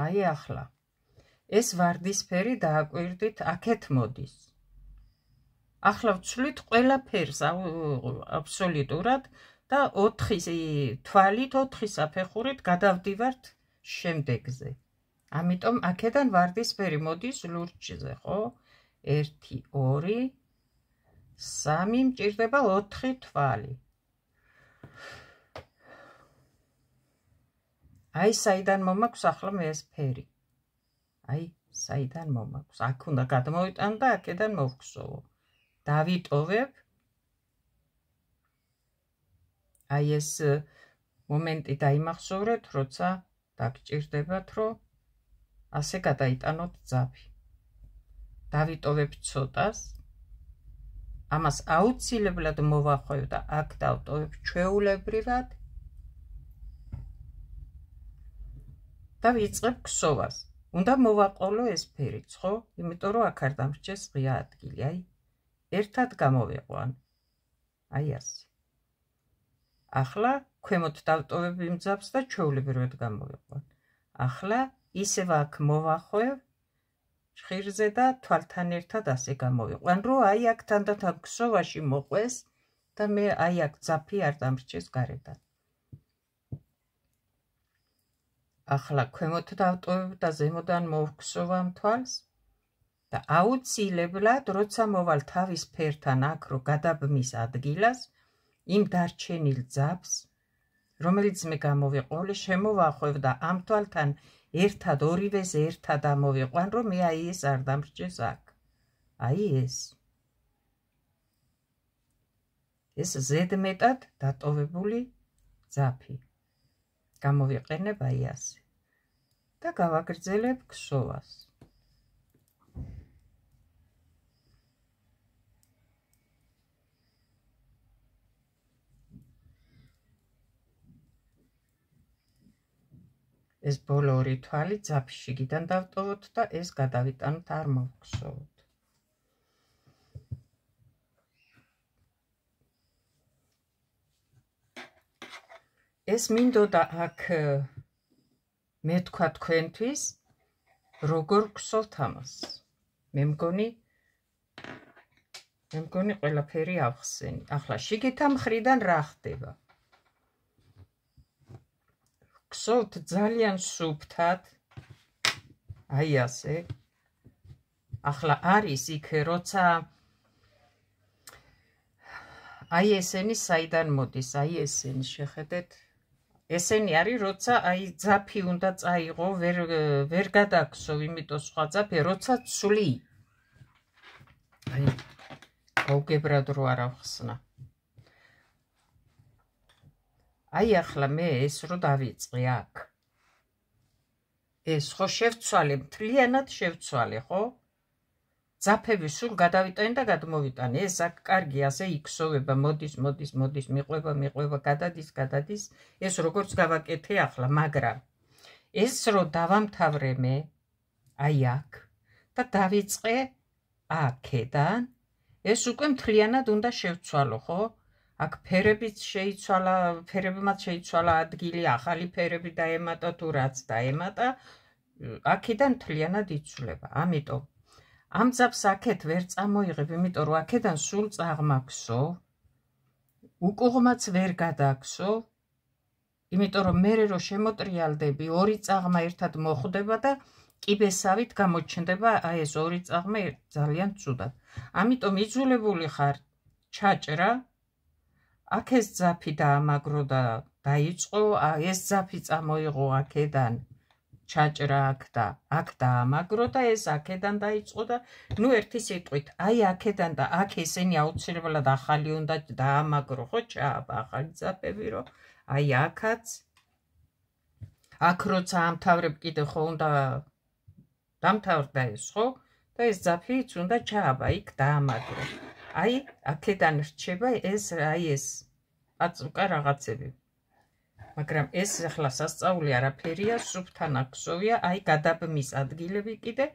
აი ახლა ეს ვარდისფერი დააკვირდით აქეთ მოდის. ახლა ვცვლით ყველა ფერს აბსოლუტურად და 4 თვალით 4 საფეხურით გადავდივართ შემდეგზე. ამიტომ აქედან ვარდისფერი მოდის ლურჯზე, ხო? 1 2 3 მჭირდება 4 თვალი. აი საიდან მომაქვს ახლა მე ეს ფერი. აი საიდან მომაქვს. აქ უნდა გადმოვიტან და აქედან მოვხსოვო. დავიტოვებ. აი ეს მომენტი დაიმახსოვრეთ, როცა დაგჭირდებათ, რომ ასე გადაიტანოთ ძაფი. დავიტოვებ ცოტას. ამას აუცილებლად მოვახვევ და აქ დავტოვებ ჩვეულებრივად. და ვიწყებ ქსოვას. უნდა მოვაყოლო ეს ფერიც, ხო? იმიტომ რომ აქ არ დამრჩეს ღია ადგილი. აი, ერთად გამოვიყვან. აი ასე. ახლა ქვემოთ დავტოვებ იმ ძაფს და ჩვეულებრივად გამოვიყვან. ახლა ისევ აქ მოვახვევ ჭხირზე და თვალთან ერთად ასე გამოვიყვან, რომ აი აქ თანდათან ქსოვაში მოყვეს და მე აი აქ ძაფი არ დამრჩეს გარედან. ახლა ქვემოთ დავტოვებ და ზემოდან მოვქსოვამ თვალს და აუცილებლად, როცა მოვალ თავის ფერთან აქ რო გადაბმის ადგილას, იმ დარჩენილ ძაფს, რომელიც მე გამოვიყვანე, შემოვახვევ და ამ თვალთან ერთად ორივეს ერთად ამოვიყვან, რომ მე აი ეს არ დამრჩეს აქ. აი ეს. ეს ზედმეტად დატოვებული ძაფი. გამოვიყენებ აი ასე და გავაგრძელებ ქსოვას. ეს ბოლო ორი თვალი ძაფის შიგიდან დავტოვოთ და ეს გადავიტანოთ, არ მოვხსოვოთ. ეს მინდოდა აქ მე თქვა თქვენთვის, როგორ გსოვთ ამას. მე მგონი ყველაფერი ავხსენი. ახლა შიგეთა მხრიდან რა ხდება? გსოვთ ძალიან სუფთად. აი ასე. ახლა არის იქ, როცა აი ესენი საიდან მოდის, აი ესენი შეხედეთ. ესენი არის, როცა აი ძაფი უნდა წაიღო, ვერ გადაგსოვ, იმიტომ სხვა ძაფი, როცა ცვლი. აი, გაუგებრად რო არ ავხსნა. აი ახლა მე ეს რო დავიწყე აქ. ეს ხო შევცვალე, მთლიანად შევცვალე, ხო? ძაფები სულ გადავიტანე და გადმოვიტანე. ეს აქ კარგი ასე იქსოვება, მოდის, მიყვება, გადადის. ეს როგორც გავაკეთე ახლა, მაგრამ ეს რო დავამთავრე მე, აი აქ და დავიწყე აქედან, ეს უკვე მთლიანად უნდა შევცვალო, ხო? აქ ფერებიც შეიცვალა, ფერებმაც შეიცვალა ადგილი, ახალი ფერები დაემატა თუ რაც დაემატა, აქედან მთლიანად იცვლება. ამიტომ ამ ძაფს აქეთ ვერ წამოიღებ, იმიტომ რომ აქედან სულ წაღმაქსო, უკუღმაც ვერ გადაგსო, იმიტომ რომ მე რო შემოტრიალდები, ორი წაღმა ერთად მოხვდება და კიბესავით გამოჩნდება აი ეს ორი წაღმა ძალიან ცუდად. ამიტომ იძულებული ხარ ჩაჭრა, აქ ეს ძაფი დაამაგრო და დაიწყო, ეს ძაფი წამოიღო აქედან, ჩაჭრა აქ დაამაგრო და ეს აქედან დაიწყო და ნუ ერთი სიტყვით, აი აქედან და აქ ესენი აუცილებლად ახალი უნდა დაამაგრო, ხო, ჩააბა ახალი ძაფები, რომ აი აქაც, აქ როცა ამთავრებ კიდე ხო უნდა დამთავრდა ეს, ხო? და ეს ძაფიც უნდა ჩააბა, იქ დაამაგრო. აი აქედან რჩება ეს, აი ეს პაწუკა რაღაცები. მაგრამ ეს ახლა სასწაული არაფერია, სუფთან აქსოვია, აი გადაბმის ადგილები კიდე,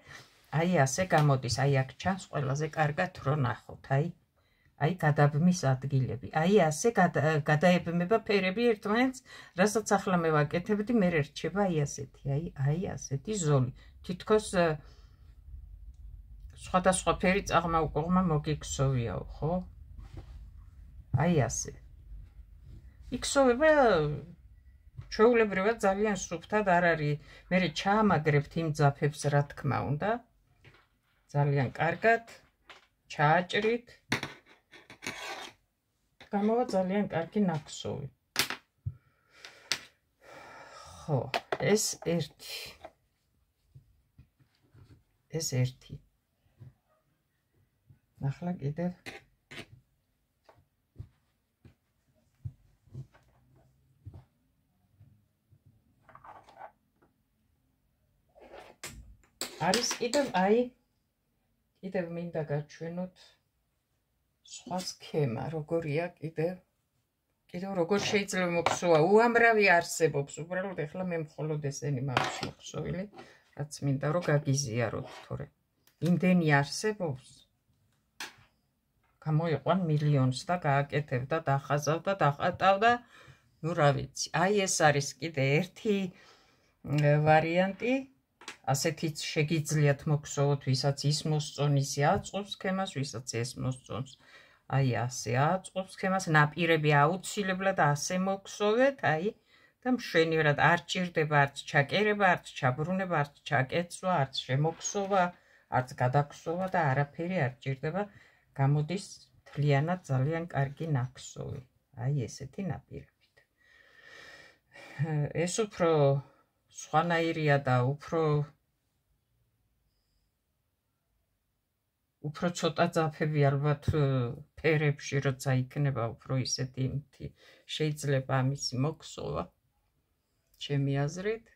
აი ასე გამოდის, აი აქ ჩანს ყველაზე კარგად რო ნახოთ, აი გადაბმის ადგილები. აი ასე გადაებმება ფერები ერთმანეთს, რასაც ახლა მე ვაკეთებდი, მე რჩება აი ასეთი, აი ასეთი ზოლი. თითქოს სხვადასხვა ფერი წაღმა უკუღმა მოგიქსოვიაო, ხო? აი ასე. იქსოვება ჩვეულებრივად ძალიან სუფთად არ არის. მე ჩაამაგრებთ იმ ძაფებს, რა თქმა უნდა. ძალიან კარგად ჩააჭრით. გამოვა ძალიან კარგი ნაქსოვი. ხო, ეს ერთი. ახლა კიდევ არის კიდევ მინდა გაჩვენოთ სხვა სქემა, როგორია კიდევ როგორ შეიძლება მოხსოვა, უამრავი არსებობს, უბრალოდ ეხლა მე მხოლოდ ესენი მაქვს მოხსოვილი, რაც მინდა რომ გაგიზიაროთ, თორე იმდენი არსებობს, გამოიყვან მილიონს და გააკეთებ და დახაზავ და დახატავ და ნუ რა ვიცი. აი ეს არის კიდე ერთი ვარიანტი, ასეთიც შეგიძლიათ მოხსოვოთ, ვისაც ის მოსწონ, ისე აწყობს სქემას, ვისაც ეს მოსწონს, აი ასე აწყობს სქემას, ნაპირები აუცილებლად ასე მოხსოვეთ, აი და მშვენივრად არ ჭირდება არც ჩაკერება, არც ჩაბრუნება, არც ჩაკეცვა, არც შემოხსოვა, არც გადაგხსოვა და არაფერი არ ჭირდება, გამოდის მთლიანად ძალიან კარგი ნაქსოვი, აი ესეთი ნაპირებით. ეს უფრო სხვანაირია და უფრო ცოტა ძაფები ალბათ ფერებში, როცა იქნება უფრო ისეთი შეიძლება ამისი მოხსოვა, ჩემი აზრით,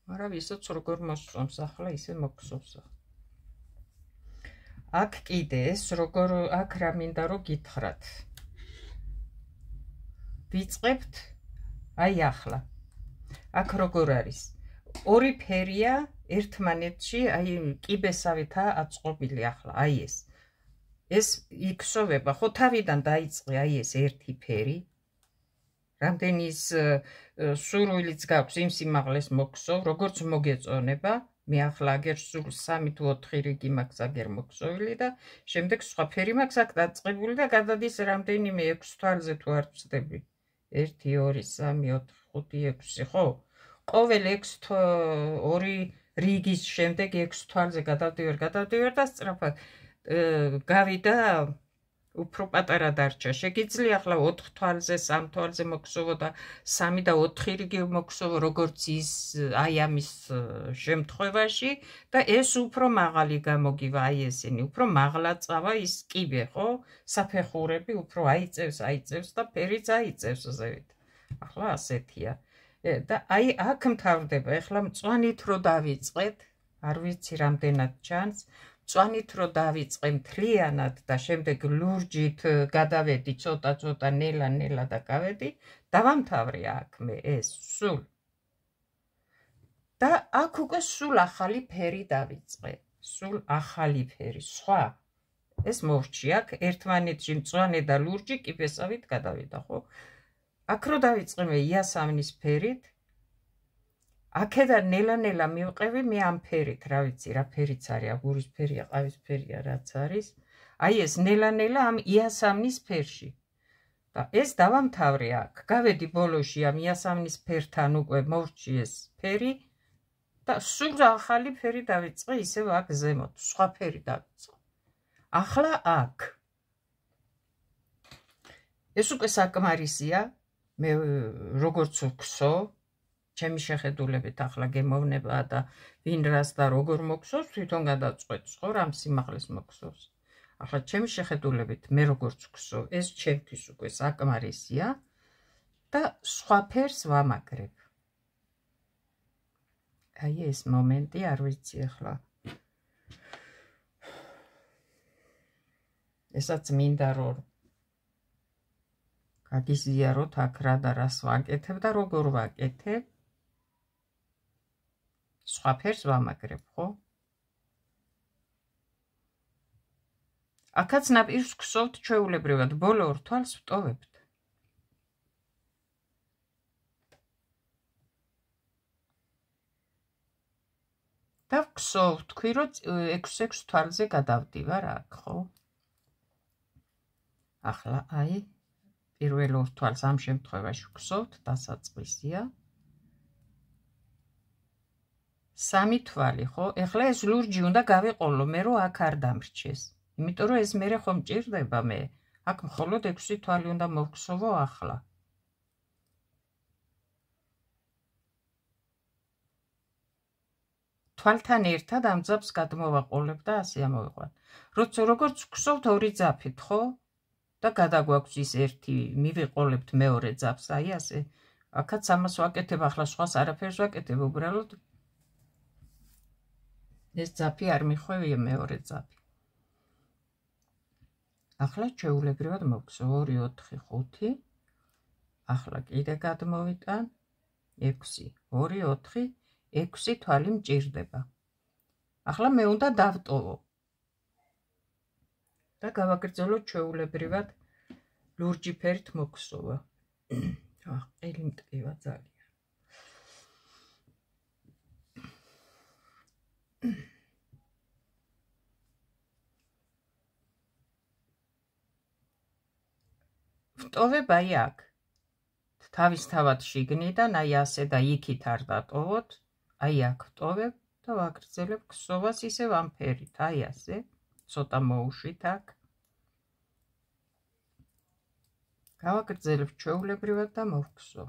მაგრამ ვისაც როგორ მოსწონს ახლა ისე მოხსოვს. აქ კიდე ეს როგორ, აქ რა მინდა რომ გითხრათ. ვიწყებთ, აი ახლა. აქ როგორ არის? ორი ფერია ერთმანეთში, აი კიბესავითაა აწყობილი ახლა, აი ეს. ეს იქსოვება, ხო თავიდან დაიწყე აი ეს ერთი ფერი. რამდენი ის სურვილიც გაქვს იმ სიმაღლეს მოხსოვ, როგორც მოგეწონება. მე ახლა აგერ სულ 3 თუ 4 რიგი მაქვს აგერ მოხსოვილი და შემდეგ სხვა ფერი მაქვს აქ დაწყებული და გადადის რამდენიმე 6 თვალზე თუ არ ვცდები. 1 2 3 4 5 6, ხო? ყოველ 2 რიგის შემდეგ 6 თვალზე გადავდივარ და სწრაფად გავიდა უფრო პატარა დარჩა. შეგიძლია ახლა 4 თვალზე, 3 თვალზე მოხსოვო და 3 და 4 რიგი მოხსოვო, როგორც ის აი ამის შემთხვევაში და ეს უფრო მაღალი გამოგივა, აი ესენი, უფრო მაღლა წავა ის კიბე, ხო? საფეხურები უფრო აიწევს და ფერიც აიწევს ზევით. ახლა ასეთია. და აი აქ მთავრდება, ეხლა მწვანით რო დავიწყეთ, არ ვიცი რამდენად ჩანს, წვანით რო დავიწყე მთლიანად და შემდეგ ლურჯით გადავედი ცოტა ნელა და გავედი, დავამთავრე აქ მე ეს სულ. და აქ უკვე სულ ახალი ფერი დავიწყე, სულ ახალი ფერი, სხვა. ეს მოვჭი აქ ერთმანეთში მწვანე და ლურჯი კიბესავით გადავიდა, ხო? აქ რო დავიწყე მე იასამნის ფერით, აქედან ნელა მივყევი მე ამ ფერით, რა ვიცი, რა ფერიც არის, აგურის ფერია, ყავის ფერია, რაც არის. აი ეს ნელა ამ იასამნის ფერში. და ეს დავამთავრე აქ. გავედი ბოლოში ამ იასამნის ფერთან უკვე მოვჭი ეს ფერი და სულ ახალი ფერი დავიწყე ისევ აქ ზემოთ, სხვა ფერი დავიწყე. ახლა აქ. ეს უკვე საკმარისია, მე როგორც ვქსო, ჩემი შეხედულებით ახლა გემოვნება და ვინ რას და როგორ მოგვსოს, თვითონ გადაწყვეტს, ხო, რამ სიმაღლეს მოგვსოს. ახლა ჩემი შეხედულებით მე როგორც ვქსო, ეს ჩემთვის უკვე საკმარისია და სხვა ფერს ვამაგრებ. აი ეს მომენტი არ ვიცი ახლა. ესაც მინდა რომ გაგიზიაროთ აქ რა და რას ვაკეთებ და როგორ ვაკეთებ. სხვა ფერს ვამაგრებ, ხო? აქაც ნაპირს ვქსოვთ ჩვეულებრივად, ბოლო ორ თვალს ვტოვებთ. და ვქსოვ, თქვი რომ 6 თვალზე გადავდივარ აქ, ხო? ახლა აი პირველ ორ თვალს ამ შემთხვევაში ვქსოვთ, დასაწყისია. 3 თვალი, ხო? ეხლა ეს ლურჯი უნდა გავეყოლო მე რომ აქ არ დამრჩეს. იმიტომ რომ ეს მერე ხომ მჭირდება მე. აქ მხოლოდ 6 თვალი უნდა მოვქსოვო ახლა. თვალთან ერთად ამ ძაფს გადმოვაყოლებ და ასე ამოვიყვან. როგორც ვქსოვთ ორი ძაფით, ხო? და გადაგვაქვს ის ერთი, მივიყოლებთ მეორე ძაფს, აი ასე. აქაც ამას ვაკეთებ, ახლა სხვას არაფერს ვაკეთებ, უბრალოდ ეს ძაფი არ მიხვევია მეორე ძაფი. ახლა ჩვეულებრივად მოვგზავ 2, 4, 5. ახლა კიდე გადმოვიტან 6, 2, 4, 6 თვალი მჭირდება. ახლა მე უნდა დავტოვო. და გავაგრძელო ჩვეულებრივად ლურჯი ფერით მოგხსოვა. ყელი მტკივა ძალიან. ვტოვებ აი აქ. თავისთავად შიგნიდან, აი ასე და იქით არ დატოვოთ, აი აქ ვტოვებ და ვაგრძელებ ხსოვას ისევ ამ ფერით, აი ასე, ცოტა მოუშვით აქ. გავაგრძელებ ჩვეულებრივად და მოვხსო.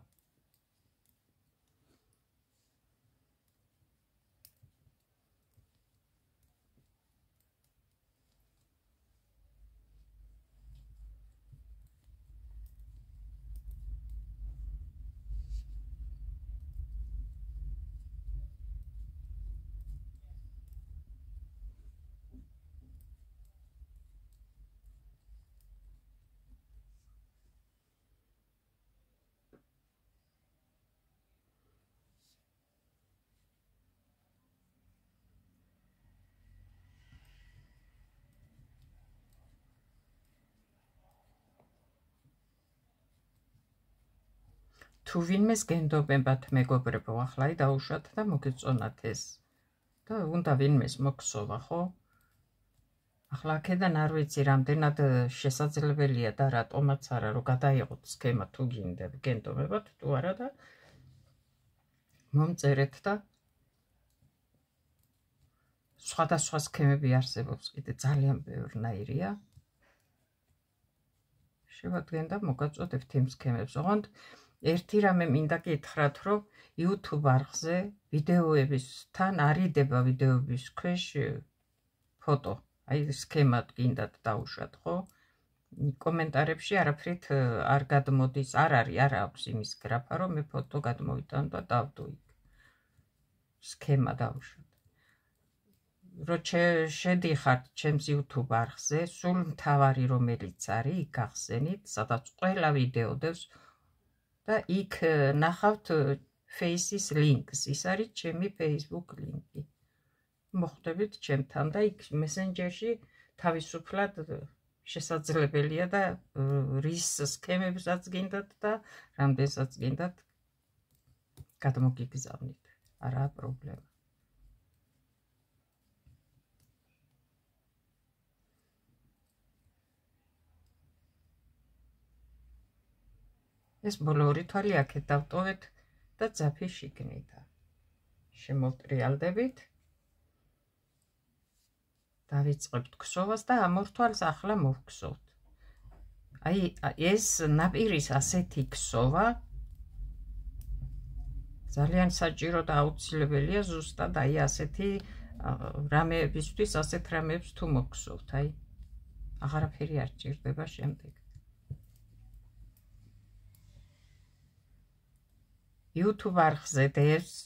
თუ ვინმეს გენდობებათ მეგობრებო, ახლა დაუშვათ და მოგეწონათ ეს. და უნდა ვინმეს მოგხსოვა, ხო? ახლა აქედან არ ვიცი რამდენად შესაძლებელია და რატომაც არა რომ გადაიღოთ სქემა თუ გენდობებათ თუ არა და მომწერეთ და სხვადასხვა სქემები არსებობს კიდე ძალიან ბევრნაირია. შევადგენთ და მოგაწოდებთ იმ სქემებს. ოღონდ ერთი რამე მინდა გითხრათ, რომ YouTube არხზე ვიდეოებისთან არიდება ვიდეოების ქვეშ ფოტო. აი სქემად გინდათ დაუშვათ, ხო? კომენტარებში არაფრით არ გადმოდის, არ აქვს იმის გრაფა, რომ მე ფოტო გადმოვიტან და დავდო იქ. სქემა დაუშვათ. რომ შედიხართ ჩემს YouTube არხზე, სულ მთავარი რომელიც არის, იქ ახსენით, სადაც ყველა ვიდეო დევს და იქ ნახავთ Face-ის ლინკს, ის არის ჩემი Facebook ლინკი. მოხვდებით ჩემთან და იქ Messenger-ში თავისუფლად შესაძლებელია და რის სქემებსაც გინდათ და რამდენსაც გინდათ გადმოგიგზავნით. არაა პრობლემა. ეს ბოლო ორი თვალი აქეთ დავტოვეთ და ძაფი შიგნითა. შემოვტრიალდებით. დავიწყებთ ქსოვას და ამ ორ თვალს ახლა მოვქსოვთ. აი ეს ნაპირის ასეთი ქსოვა ძალიან საჭირო და აუცილებელია ზუსტად აი ასეთი რამეებისთვის, ასეთ რამეებს თუ მოგხსოვთ, აი აღარაფერი არ ჭირდება შემდეგ. YouTube არხზე დევს,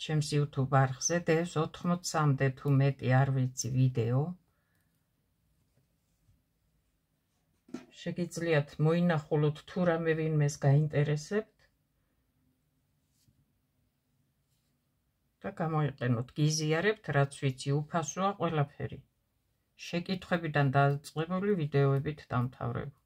ჩემს YouTube არხზე დევს 80-მდე თუ მეტი არ ვიცი ვიდეო. შეგიძლიათ მოინახულოთ თუ რამე ვინმეს გაინტერესებთ და გამოიყენოთ, გიზიარებთ, რაც ვიცი, უფასოა ყველაფერი. შეკითხვებიდან დაწყებული ვიდეოებით დამთავრებული.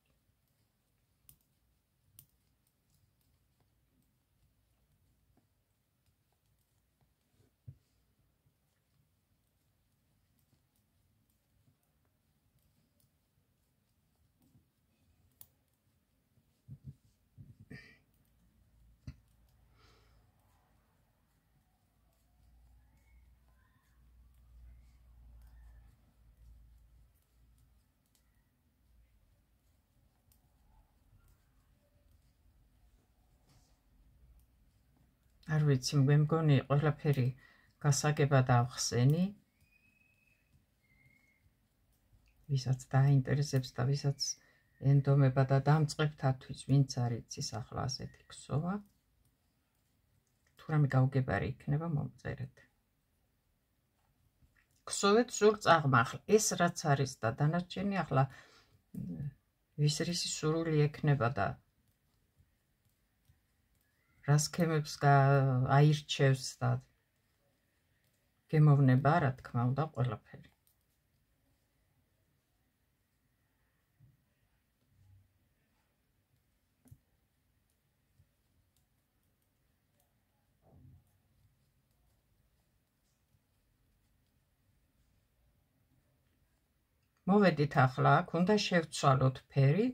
არ ვიცი, მე მგონი ყველაფერი გასაგებად ავხსენი. ვისაც დაინტერესებს და ვისაც ენდომება და დამწყებთათვის, ვინც არ იცის ახლა ასეთი ქსოვა. თუ რამე გაუგებარი იქნება, მომწერეთ. ქსოვეთ სულ წაღმახლა. ეს რაც არის და დანარჩენი ახლა ვის რისი სურვილი ექნება და რა სქემებს აირჩევს და გემოვნება, რა თქმა უნდა, ყველაფერი. მოვედით ახლა აქ, უნდა შევცვალოთ ფერი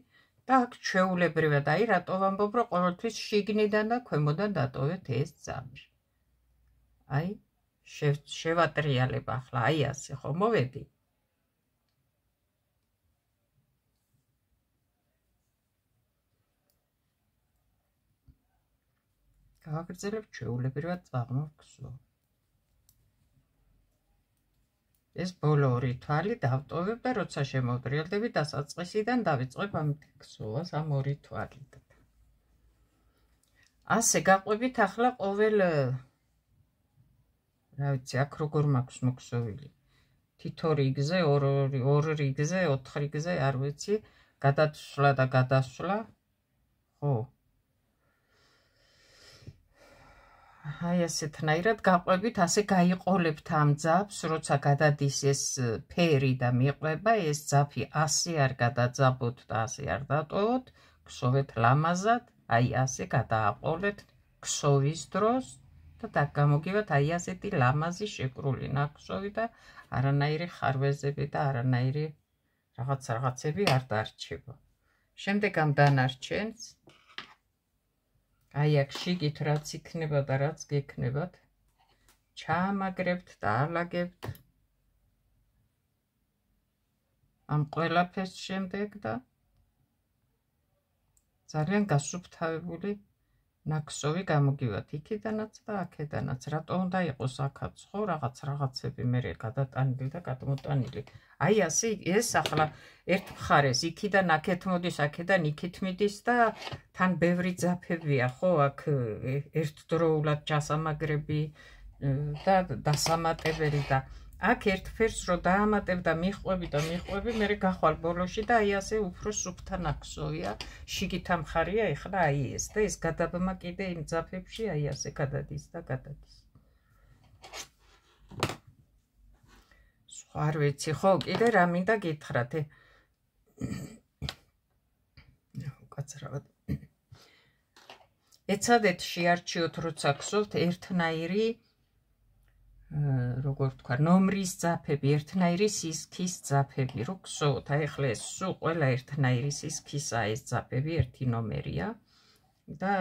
და აქ ჩვეულებრივად, აი რატო ვამბობ, რომ ყოველთვის შიგნიდან და ქვემოდან დატოვეთ ეს ძაფი. აი, შევატრიალებ ახლა, აი ასე, ხო, მოვედი. გავაგრძელებ ჩვეულებრივად წაღმოვხსო. ეს ბოლო ორი თვალი დავტოვებ და როცა შემოვტრიალდები დასაწყისიდან დავიწყებ ამ ქსოვას ამ ორი თვალით. ასე გაყვებით ახლა ყოველ რა ვიცი, აქ როგორ მაქვს მოქსოვილი. თითო რიგზე, ორ რიგზე, 4 რიგზე, არ ვიცი, გადაცვლა და გადასვლა. ხო. აი ასეთნაირად გაყვებით, ასე გაიყოლებთ ამ ძაფს, როცა გადადის ეს ფერი და მიყვება, ეს ძაფი ასე არ გადაძაბოთ და ასე არ დატოვოთ, ქსოვეთ ლამაზად, აი ასე გადააყოლეთ ქსოვის დროს და გამოგივათ აი ასეთი ლამაზი შეკრული ნაქსოვი და არანაირი ხარვეზები და არანაირი რაღაცები არ დარჩება. შემდეგ ამ დანარჩენს აი აქ შიგით რაც იქნება და რაც გექნებათ, ჩაამაგრებთ და ალაგებთ ამ ყველაფერს შემდეგ და ძალიან გასუფთავებული ნაქსოვი გამოგივათ იქიდანაც და აქედანაც. რატო უნდა იყოს აქაც, ხო, რაღაცები მერე გადატანილი და გადმოტანილი. აი ასე ეს ახლა ერთ მხარეს იქიდან აქეთ მოდის, აქედან იქით მიდის და თან ბევრი ძაფებია, ხო, აქ ერთდროულად ჩასამაგრები და დასამატებელი და აქ ერთ ფერს რო დაამატებ და მიხვები, მე გახვალ ბოლოში და აი ასე უფრო სუფთა ნაკსოვია, შიგით ამხარია ეხლა აი ეს და ეს გადაბმა კიდე იმ ძაფებში აი ასე გადადის და გადადის. სხვა არ ვიცი, ხო, კიდე რა მინდა გითხრათ. უკაცრავად. ეცადეთ შეარჩიოთ, როცა გსოვთ ერთნაირი როგორ თქვა, ნომრის ძაფები, ერთნაირი სისქის ძაფები, რო გსოვთ, აი ახლა ეს სულ ყველა ერთნაირი სისქისა ეს ძაფები, ერთი ნომერია და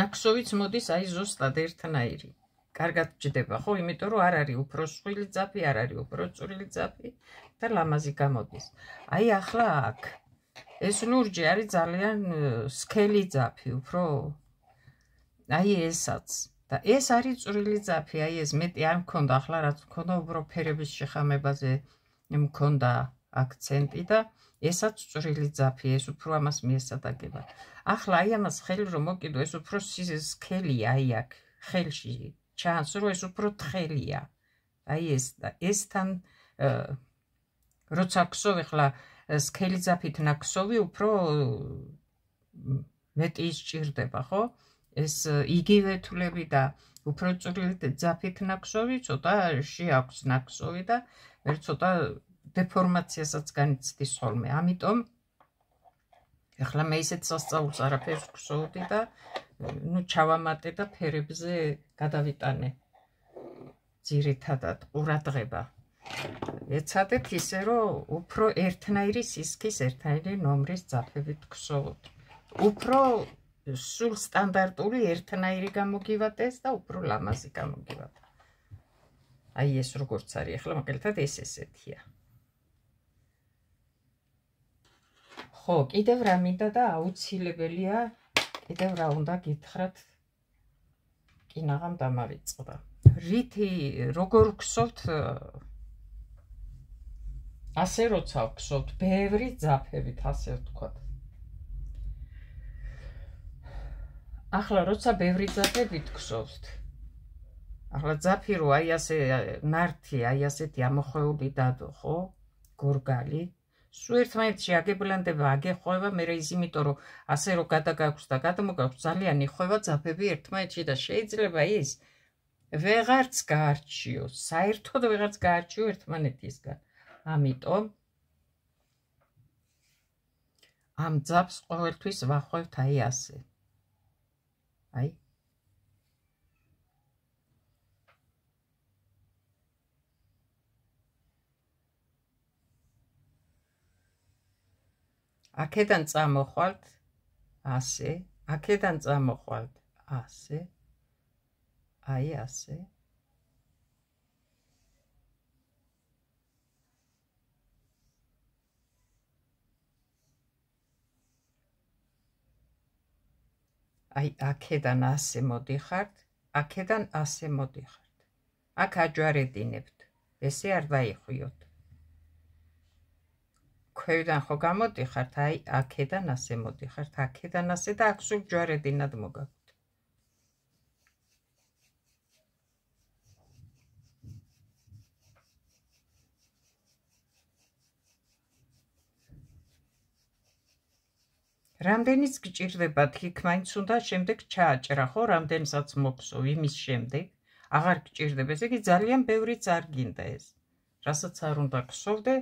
ნაკსოვიც მოდის აი ზუსტად ერთნაირი. კარგად ჯდება, ხო, იმიტომ რომ არ არის უფრო სხვილი ძაფი, არ არის უფრო წვრილი ძაფი და ლამაზი გამოდის. აი ახლა აქ ეს ლურჯი არის ძალიან სქელი ძაფი, უფრო აი ესაც. და ეს არის წვრილი ძაფი, აი ეს მეტი არ მქონდა, ახლა რაც მქონდა უფრო ფერების შეხამებაზე მქონდა აქცენტი და ესაც წვრილი ძაფი, ეს უფრო ამას მიესადაგება. ახლა აი ამას ხელი რომ მოკიდო, ეს უფრო სქელია, აი აქ ხელში ჩანს, რომ ეს უფრო თხელია. აი ესთან როცა გსოვ ახლა სქელი ძაფით ნაკსოვი უფრო მეტი ისჭირდება, ხო? ეს იგივე თვლები და უფრო წვრილი ძაფით ნაკსოვი ცოტა შეაქვს ნაკსოვი და მე ცოტა დეფორმაციასაც განიცდის ხოლმე. ამიტომ ახლა მე ისეთ სასწაულს არაფერს გსოვდი და ნუ ჩავამატე და ფერებზე გადავიტანე ძირითადად ყურადღება. ეცადეთ ისე რომ უფრო ერთნაირი სისქის, ერთნაირი ნომრის ძაფებით გსოვოთ. უფრო სულ სტანდარტული ერთნაირი გამოგივატეს და უფრო ლამაზი გამოგივატა. აი ეს როგორც არის, ახლა მაგალითად ეს ესეთია. ხო, კიდევ რა მინდა და აუცილებელია, კიდევ რა უნდა გითხრათ, კინაღამ დამავიწყდა. რითი როგორ გსოვთ, ასე როცა გსოვთ, ბევრი ძაფებით, ასე ვთქვათ. ახლა როცა ბევრი ძაფებით გსოვთ, ახლა ძაფი რო აი ასე ნართი, აი ასეთი ამოხვეული დადო, ხო? გორგალი. სულ ერთმანეთში აგებლანდება, აგეხვევა, მე ის იმიტომ რომ ასე რო გადაგაქვს და გადმოგაქვს, ძალიან იხვევა ძაფები ერთმანეთში და შეიძლება ის ვეღარც გაარჩიოს, საერთოდ ვეღარც გაარჩიო ერთმანეთისგან. ამიტომ ამ ძაფს ყოველთვის ვახვევთ აი ასე. აი აქედან წამოხვალთ ასე, აქედან წამოხვალთ ასე, აი ასე. აი აქედან ასე მოდიხართ, აქედან ასე მოდიხართ. აქ აჯვარედინებთ, ესე არ დაიხვიოთ. ქვევიდან ხო გამოდიხართ, აი აქედან ასე მოდიხართ, აქედან ასე და აქ სულ ჯვარედინად მოგაქვთ. რამდენიც გჭირდებათ, იქ მაინც უნდა შემდეგ ჩააჭრა, ხო, რამდენსაც მოგსოვ, იმის შემდეგ აღარ გჭირდება, ესე იგი ძალიან ბევრიც არ გინდა ეს. რასაც არ უნდა გსოვდე,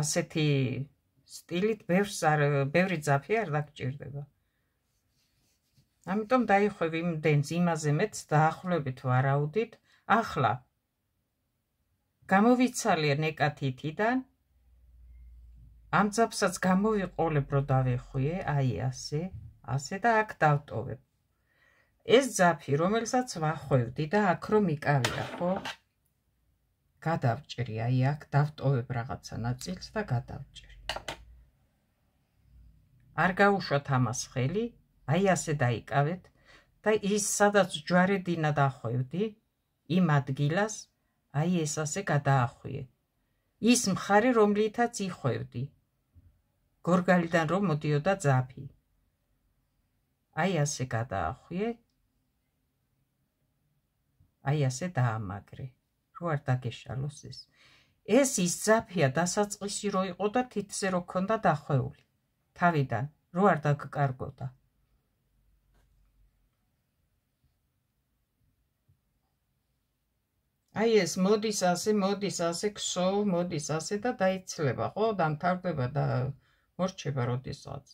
ასეთი სტილით ბევრი ძაფი არ დაგჭირდება. ამიტომ დაიხვევ იმდენს, იმაზე მეც დაახლოებით ვარაუდით. ახლა გამოვიცალე ნეკათითიდან, ამ ძაფსაც გამოვიყოლებ, რომ დავეხვიე, აი ასე, ასე და აქ დავტოვებ. ეს ძაფი, რომელსაც ვახვევდი და აქ რომ იკავია, ხო? გადავჭრი, აი აქ დავტოვებ რაღაცა ნაწილს და გადავჭრი. არ გაუშვათ ამას ხელი, აი ასე დაიკავეთ და ის სადაც ჯვარედინად ახვევდი, იმ ადგილას, აი ეს ასე გადაახვიე. ის მხარე, რომლითაც იხვევდი. გორგალიდან რომ მოდიოდა ძაფი. აი ასე გადაახვიე. აი ასე დაამაგრე. რო არ დაგეშალოს ეს. ეს ის ძაფია დასაწყისი რო იყო და თითზე რო ქონდა დახვეული. თავიდან, რო არ დაგკარგოდა. აი ეს მოდის ასე ქსოვ, მოდის ასე და დაიცლება, ხო? დამთავრდება და მორჩება როდესაც.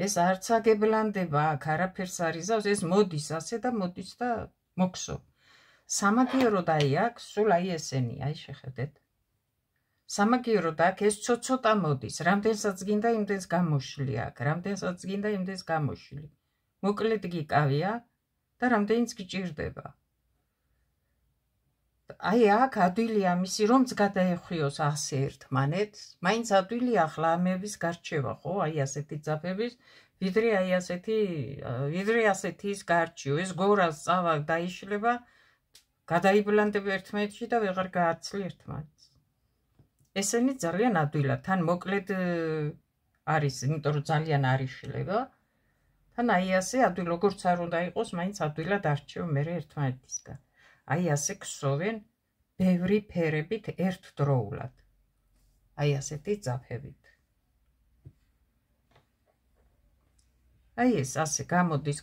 ეს არც აგებლანდება, აქ არაფერს არ იზავს, ეს მოდის ასე და მოდის და მოქსო. სამაგიეროდ აი აქ, სულ აი ესენი, აი შეხედეთ. სამაგიეროდ აქ ეს ცოტა მოდის, რამდენსაც გინდა იმდენს გამოშლი აქ, რამდენსაც გინდა იმდენს გამოშლი. მოკლედ გიკავია და რამდენიც გიჭირდება. აი აქ ადვილია მისი რომც გადაეხვიოს ასე ერთმანეთს, მაინც ადვილია ახლა ამების გარჩევა, ხო? აი ასეთი ძაფების, ვიდრე ასეთი ის გარჩიო, ეს გორას წავა დაიშლება, გადაიბლანდება ერთმანეთში და ვეღარ გააცლი ერთმანეთს. ესენი ძალიან ადვილად, თან მოკლედ არის, იმიტომ რომ ძალიან არ იშლება, თან აი ასე ადვილ როგორც არ უნდა იყოს, მაინც ადვილად არჩევ მე ერთმანეთისგან. აი ასე ქსოვენ ბევრი ფერებით ერთდროულად. აი ასეთი ძაფებით. აი ეს ასე გამოდის,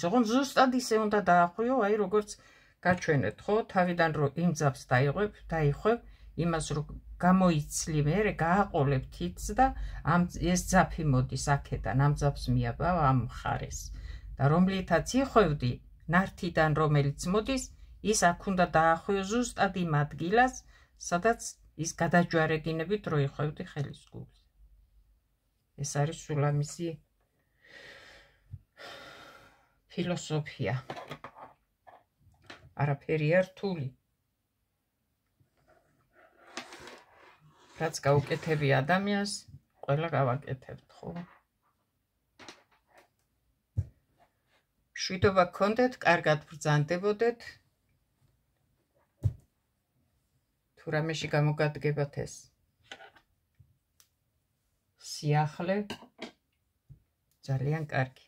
ოღონდ ზუსტად ისე უნდა დაახვიო, აი როგორც გაჩვენეთ, ხო? თავიდან რომ იმ ძაფს დაიხვევ, იმას რომ გამოიცლი მერე, გააყოლებ თითს და ეს ძაფი მოდის აქედან, ამ ძაფს მიაბავ ამ მხარეს. და რომლითაც იხვევდი, ნართიდან რომელიც მოდის, ის აქ უნდა დაახვიო ზუსტად იმ ადგილას, სადაც ის გადაჯვარებინებით რო იხვევდი ხელის გულს. ეს არის სულ ამისი ფილოსოფია. არაფერია რთული. რაც გაუკეთები ადამიანს, ყველა გავაკეთებთ, ხო? მშვიდობა გქონდეთ, კარგად ბრძანდებოდეთ. თუ რამეში გამოგადგებათ ეს სიახლე, ძალიან კარგი.